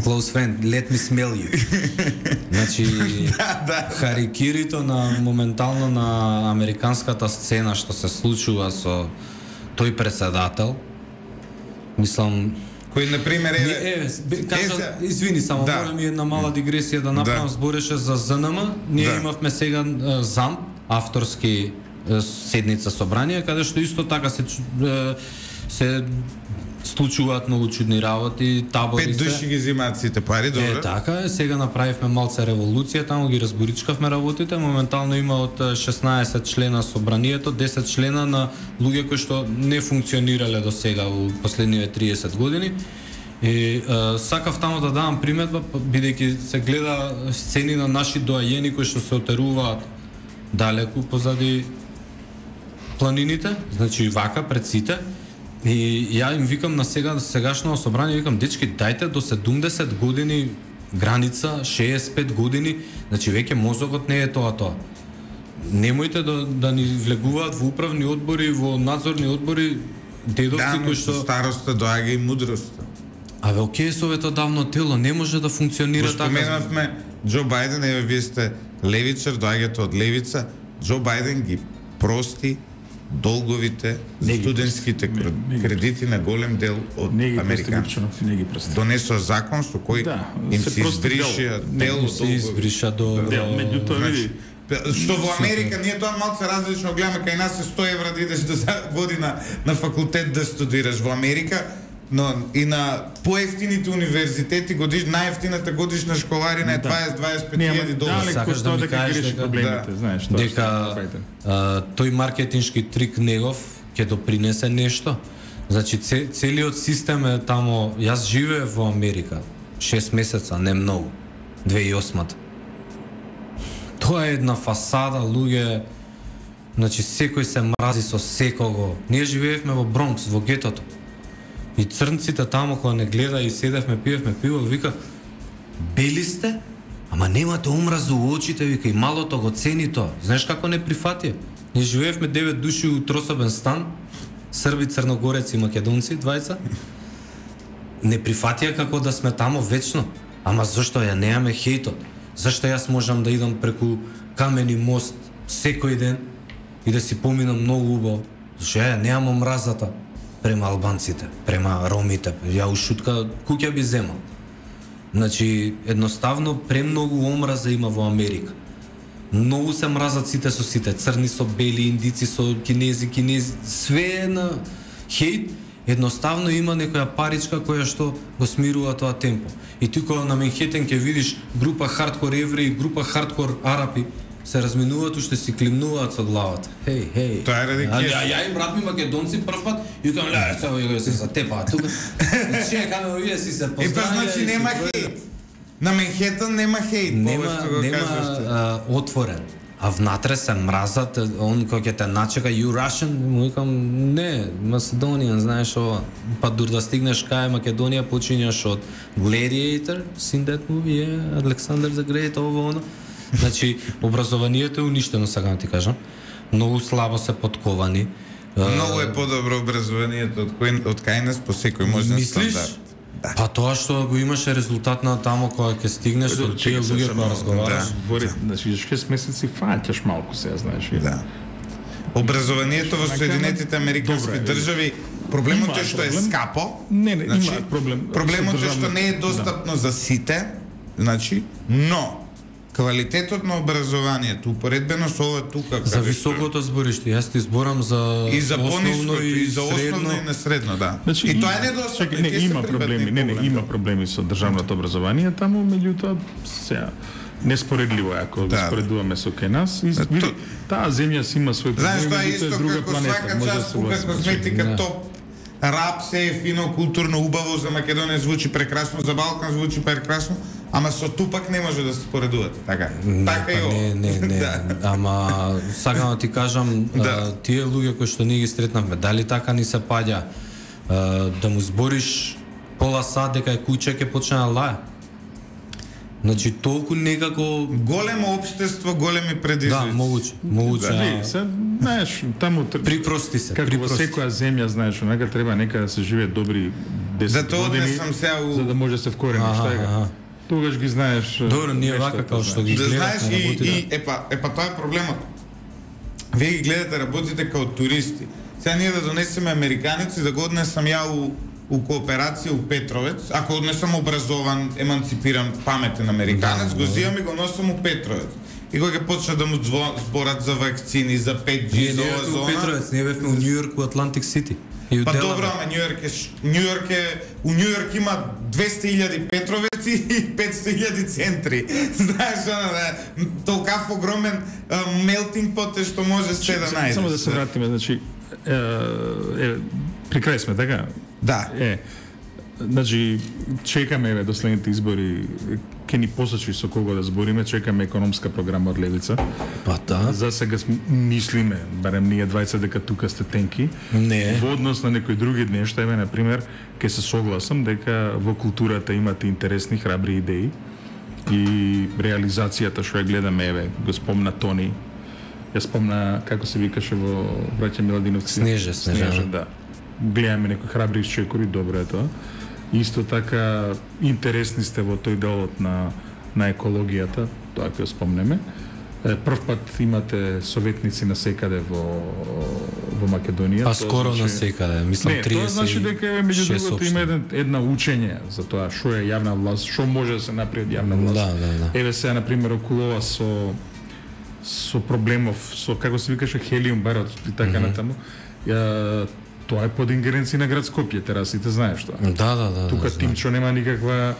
close friend, let me smell you. Значи да, да. харикирито на моментално на американската сцена што се случува со тој председател, мислам, кој на пример е е кажа, извини само, да. морам и една мала дигресија да направам, да. Збореше за З Н М, ние да. Имавме сега ЗАМ, авторски седница собрание, каде што исто така се се случуваат многу чудни работи, табори Пет се. души ги земаат сите пари, добро. Е, така е, сега направивме малце револуција, таму ги разборичкавме работите, моментално има од шеснаесет члена собранието, десет члена на луѓе кои што не функционирале до сега во последниве триесет години. И е, сакав таму да давам приметба, бидејќи се гледа сцени на наши доајени кои што се отеруваат далеку позади планините, значи вака пред сите. И ја им викам на сега сегашно собрание, викам дечки, дајте до седумдесет години граница, шеесет и пет години, значи веќе мозокот не е тоа тоа. Немојте да, да ни влегуваат во управни одбори, во надзорни одбори дедовци да, кои што староста доаѓа и мудроста. Абе, окей, советодавно тело не може да функционира така. Споменавме Џо Бајден, еве вие сте левичар, доаѓате од левица. Џо Бајден ги прости долговите за студентските кредити на голем дел од американците. Не ги прости. Донесоа закон со кој да, им се избриша дел од се избриша до меѓутоа види што во Америка ние тоа малку различно гледаме, кај нас е сто евра да идеш до година на факултет да студираш во Америка. Но и на поевтините универзитети годиш најефтината годишна школарина е дваесет до дваесет и пет илјади долари. Сакаш да ми кажеш дека проблемите, знаеш, тоа дека а, тој маркетиншки трик негов ќе допринесе нешто. Значи целиот систем е тамо. Јас живеев во Америка шест месеца, не многу. две илјади и осма. Тоа е една фасада, луѓе Значи секој се мрази со секого. Ние живеевме во Бронкс, во гетото. И црнците таму кога не гледа и седевме, пиевме пиво, вика: "Бели сте? Ама немате омраза у очите", вика, "и малото го цени тоа." Знаеш како не прифатија? Ние живеевме девет души у трособен стан, срби, црногореци и македонци, двајца. Не прифатија како да сме таму вечно. Ама зашто ја немаме хејтот? Зашто јас можам да идам преку камени мост секој ден и да си поминам многу убаво? Зашто ја немам омразата према албанците, према ромите? Ја у шутка куќа би земал. Значи, едноставно премногу омраза има во Америка. Многу се мразат сите со сите, црни со бели, индици со кинези, кинези, све е на хејт. Едноставно има некоја паричка која што го смирува тоа темпо. И ти кога на Менхетен ќе видиш група хардкор евреи, група хардкор арапи, се разминуваат уште си климнуваат со главата. Хеј, хеј. Тоа е ради кеш. Ја ја им брат ми македонци прв пат и викам: "Ле, сега ја се затепаат тука." Чекаме вие си се поздравија. И па значи нема хејт. На Менхетен нема хејт, нема, нема отворен. А внатре се мразат, он кој ќе те начека, "You Russian", му викам: "Не, Macedonian, знаеш ова." Па дур да стигнеш кај Македонија, почињаш од Gladiator, seen that movie, yeah, Alexander the Great, ова оно. Значи, образованието е уништено, сега ти кажам. Многу слабо се подковани. Многу е подобро образованието од кој од кај нас по секој можен стандард. Да. Па тоа што го имаше резултат на таму кога ќе стигнеш со тие луѓе кога разговараш. Говори, значи шест месеци фаќаш малку се, знаеш. Да. Образованието во Соединетите Американски држави, проблемот е што е скапо. Не, не, има проблем. Проблемот е што не е достапно за сите, значи, но квалитетот на образованието упоредбено со ова тука за високото збориште, јас ти зборам за и за основно и за основно и на средно, да. Значи, и тоа е недостапно. Не, има проблеми, не, не, има проблеми со државното образование таму, меѓутоа сега неспоредливо е ако да, споредуваме со кај нас. И, види, таа земја си има свој проблеми, знаеш, тоа е исто друга како планета, свака част кога косметика топ. Рап се е фино, културно, убаво, за Македонија звучи прекрасно, за Балкан звучи прекрасно, ама со Тупак не може да се споредувате, така? Не, така па, не, не, не, да. Ама сакам да ти кажам, да. а, тие луѓе кои што ние ги сретнавме, дали така ни се паѓа а, да му збориш пола сат дека е куќе ќе почне да лае? Значи толку некако големо општество, големи предизвици. Да, могуче, могуче. Да, се, знаеш, таму припрости се, како припрости. во секоја земја, знаеш, онака треба нека да се живее добри десет години. Затоа сам сега у... за да може да се вкорени, што е. Тогаш ги знаеш. Добро, ние вака како што ги гледаме. Да знаеш и, и епа, епа тоа е проблемот. Вие ги гледате, работите као туристи. Сега ние да донесеме американеци, да го однесам ја у у кооперација у Петровец, ако не сум образован, еманципиран, паметен американец, да, го зимам и го носам у Петровец. И кога ќе почна да му зборат за вакцини, за пет джи, за ова зона... Ние Петровец, ние бевме у Њујорк, у Атлантик Сити. Па добро, ама Њујорк е... Њујорк е... У Њујорк има двесте илјади Петровеци и петсто илјади центри. Знаеш, она да... Толкав огромен мелтинг пот е што може сте да најдеш. Само да се вратиме, значи... Е, е, при крај сме, така? Да. Е, значи, чекаме еве до следните избори, ќе ни посочи со кого да збориме, чекаме економска програма од Левица. Па да. За сега мислиме, барем ние двајца, дека тука сте тенки. Не. Во однос на некои други нешта, еве, например, ќе се согласам дека во културата имате интересни, храбри идеи и реализацијата што ја гледаме, еве, го спомна Тони, ја спомна, како се викаше во Браќа Миладиновци. Снеже, Снеже, Снеже, да. Гледаме некои храбри исчекори, добро е тоа. Исто така интересни сте во тој делот на на екологијата, тоа ќе спомнеме. Прв пат имате советници на секаде во во Македонија. Па скоро значи... на секаде, мислам не, триесет. Тоа значи дека меѓу другото има една, една учење за тоа што е јавна власт, што може да се направи од јавна власт. Да, да, да. Еве сега на пример околу ова со со проблемов со како се викаше хелиум барот и така mm -hmm. натаму. Ја, тоа е под ингеренција на град Скопје, терасите знаеш тоа. Да, да, да. Тука да, Тимчо нема никаква,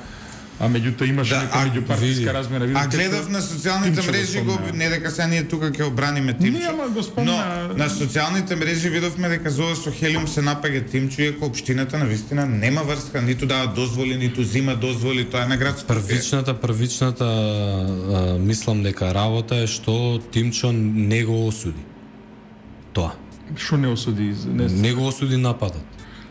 а меѓутоа имаше да, нека меѓупартиска размена. А гледав на социјалните мрежи го, не дека сега ние тука ќе обраниме Тимчо. Нема го спомна. Но на социјалните мрежи видовме дека за ова со хелиум се напаѓа Тимчо, иако општината навистина нема врска, ниту дава дозволи, ниту зима дозволи, тоа е на град Скопје. Првичната, првичната а, мислам дека работа е што Тимчо не го осуди. тоа. Што не осуди? Не, Не го осуди нападот.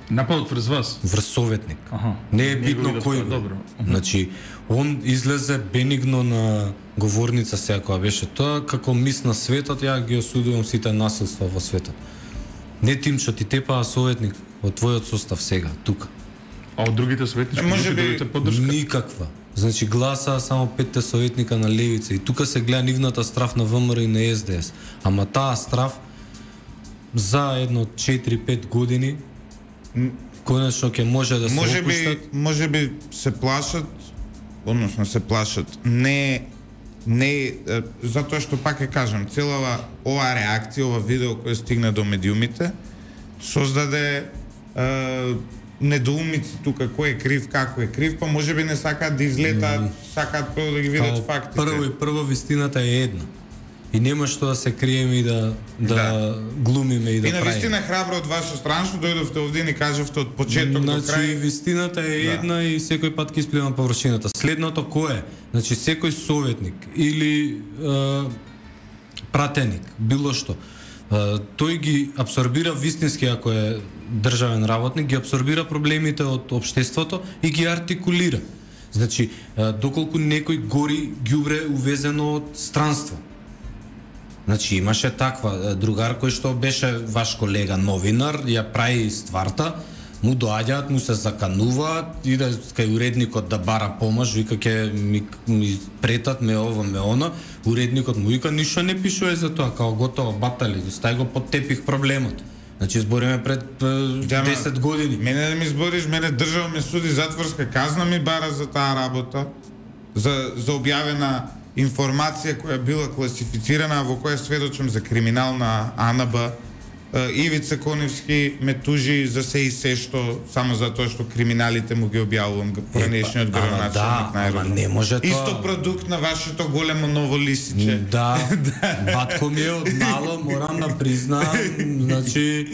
Нападот врз вас? Врз советник. Аха. Не е Не битно го кој видов, бил. добро. Значи, он излезе бенигно на говорница сега која беше тоа, како мис на светот, ја ги осудувам сите насилства во светот. Не Тимчо, ти тепаа советник од твојот состав сега, тука. А од другите советнички Може групи би добивате поддршка? Никаква. Значи гласаа само петте советника на левица и тука се гледа нивната страф на ВМРО и на Ес Де Ес. Ама таа страф за едно четири-пет години конечно ќе може да се Може би, опуштат. може би се плашат, односно се плашат, не не е, затоа што пак ќе кажам, целава оваа реакција, ова видео кој стигна до медиумите, создаде е, недоумици тука кој е крив, како е крив, па може би не сакаат да излетаат, mm. сакаат прво да ги видат Као фактите. Прво и прво вистината е една. И нема што да се криеме и да да, Да. глумиме и да И на правиме. вистина храбро од ваша страна што дојдовте овде и ни кажавте од почеток до Значи, крај. вистината е Да. една и секој пат ќе испливам површината. Следното кој е? Значи, секој советник или е, пратеник, било што, е, тој ги абсорбира вистински, ако е државен работник, ги абсорбира проблемите од општеството и ги артикулира. Значи, е, доколку некој гори ѓубре увезено од странство. Значи имаше таква другар кој што беше ваш колега новинар, ја прави стварта, му доаѓаат, му се закануваат, иде кај уредникот да бара помош, вика ќе ми, ми претат ме ово, ме она, уредникот му вика ништо не пишува за тоа, као готово, батали, стај го под тепих проблемот. Значи збориме пред е, десет години. Мене да ми збориш, мене држава ме суди затворска казна ми бара за таа работа, за, за објавена информација која била класифицирана, во која сведочам за криминал на А Н Б. Ивица Коневски ме тужи за се и се што, само затоа што криминалите му ги објавувам поранешниот Ама градоначелник да, на ама аеродром. не може тоа. Исто продукт на вашето големо ново лисиче. Да, батко ми е од мало, морам да признаам, значи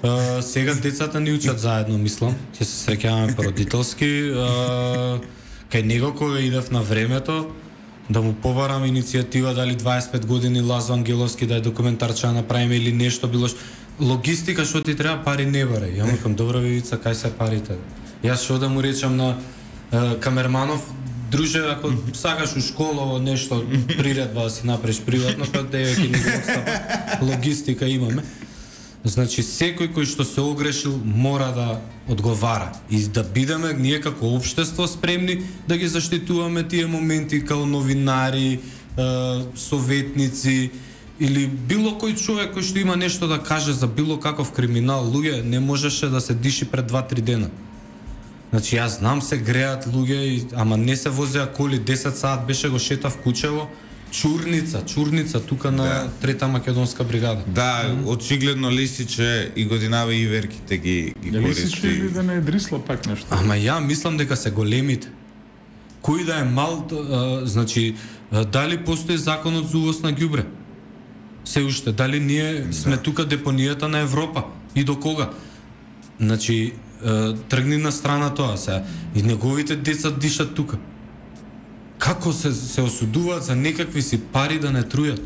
а, сега децата ни учат заедно, мислам, ќе се среќаваме породителски, а, кај него кој идев на времето, да му побарам иницијатива дали дваесет и пет години Лазо Ангеловски да е документарче да направиме или нешто било што. Логистика што ти треба, пари не барај. Ја му викам, добра вивица, кај се парите? Јас што да му речам на е, камерманов, друже, ако сакаш у школа нешто приредба да си направиш приватно, па девеќе ни го отстапа. Логистика имаме. Значи, секој кој што се огрешил мора да одговара и да бидеме ние како општество спремни да ги заштитуваме тие моменти као новинари, е, советници или било кој човек кој што има нешто да каже за било каков криминал. Луѓе, не можеше да се диши пред два-три дена. Значи, јас знам се греат луѓе, ама не се возеа коли, десет саат беше го шетав Кучево, Чурница, Чурница, тука на Да. трета македонска бригада. Да, очигледно Лисиче и годинава и верките ги, ги Дали си користи. чули да не е дрисла пак нешто? Ама ја мислам дека се големите. Кој да е мал, а, значи, а, дали постои законот за увоз на ѓубре? Се уште, дали ние да. сме тука депонијата на Европа? И до кога? Значи, а, тргни на страна тоа сега. И неговите деца дишат тука. Како се, се осудуваат за некакви си пари да не трујат?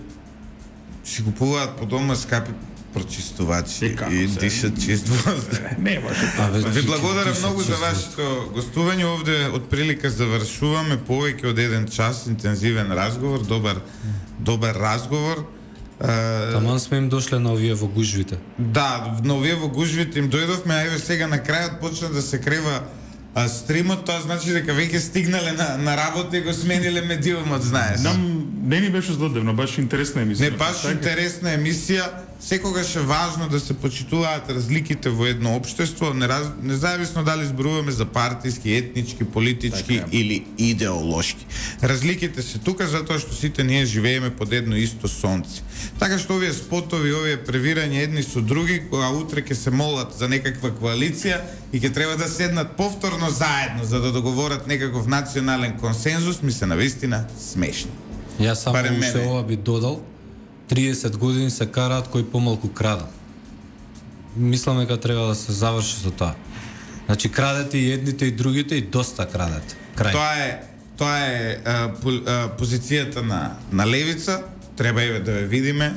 Си купуваат по дома скапи прочистувачи И како и се? дишат чист воздух. Не може. Абе, Ви благодарам дишат многу за чист вашето гостување овде. Од прилика завршуваме повеќе од еден час интензивен разговор, добар добар разговор. Е, Таман сме им дошле на овие во гужвите. Да, на овие во гужвите им дојдовме, а еве сега на крајот почна да се крева а, стримот, тоа значи дека веќе стигнале на, на работа и го смениле медиумот, знаеш. Нам не ни беше злодевно, баш интересна емисија. Не баш интересна емисија, секогаш е важно да се почитуваат разликите во едно општество, нераз... независно дали зборуваме за партиски, етнички, политички така или идеолошки. Разликите се тука затоа што сите ние живееме под едно исто сонце. Така што овие спотови, овие превирања едни со други, кога утре ќе се молат за некаква коалиција и ќе треба да седнат повторно заедно за да договорат некаков национален консензус, ми се навистина смешни. Јас само Барем уште мене. ова би додал, триесет години се караат кој помалку крада. Мислам дека треба да се заврши со тоа. Значи крадете и едните и другите и доста крадете. Крај. Тоа е тоа е а, по, а, позицијата на на левица, треба еве да ја видиме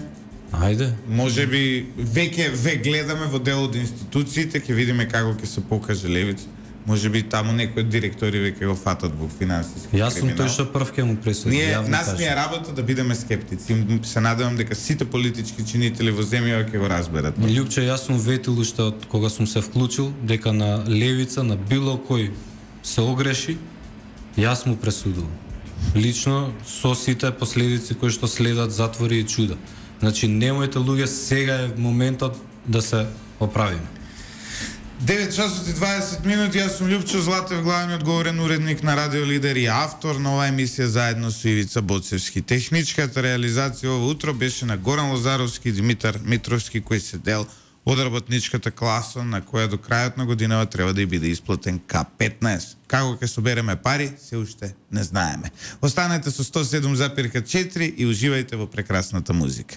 Ајде. Може би веќе ве гледаме во дел од институциите, ќе видиме како ќе се покаже левица. Може би таму некои од директори веќе го фатат во финансиски криминал. Јас сум тој што прв ќе му пресуди. Ние нас ни е работа да бидеме скептици. Се надевам дека сите политички чинители во земјава ќе го разберат. Љупче, јас сум ветил уште од кога сум се вклучил дека на левица, на било кој се огреши, јас му пресудувам. Лично со сите последици кои што следат, затвори и чуда. Значи немојте луѓе, сега е моментот да се оправиме. девет часот и дваесет минути, јас сум Љупчо Златев, главниот говорен уредник на Радио Лидер и автор на оваа емисија заедно со Ивица Боцевски. Техничката реализација ова утро беше на Горан Лозаровски и Димитар Митровски, кој се дел од работничката класа на која до крајот на годинава треба да и биде исплатен К петнаесет. Како ќе собереме пари, се уште не знаеме. Останете со сто и седум запирка четири и уживајте во прекрасната музика.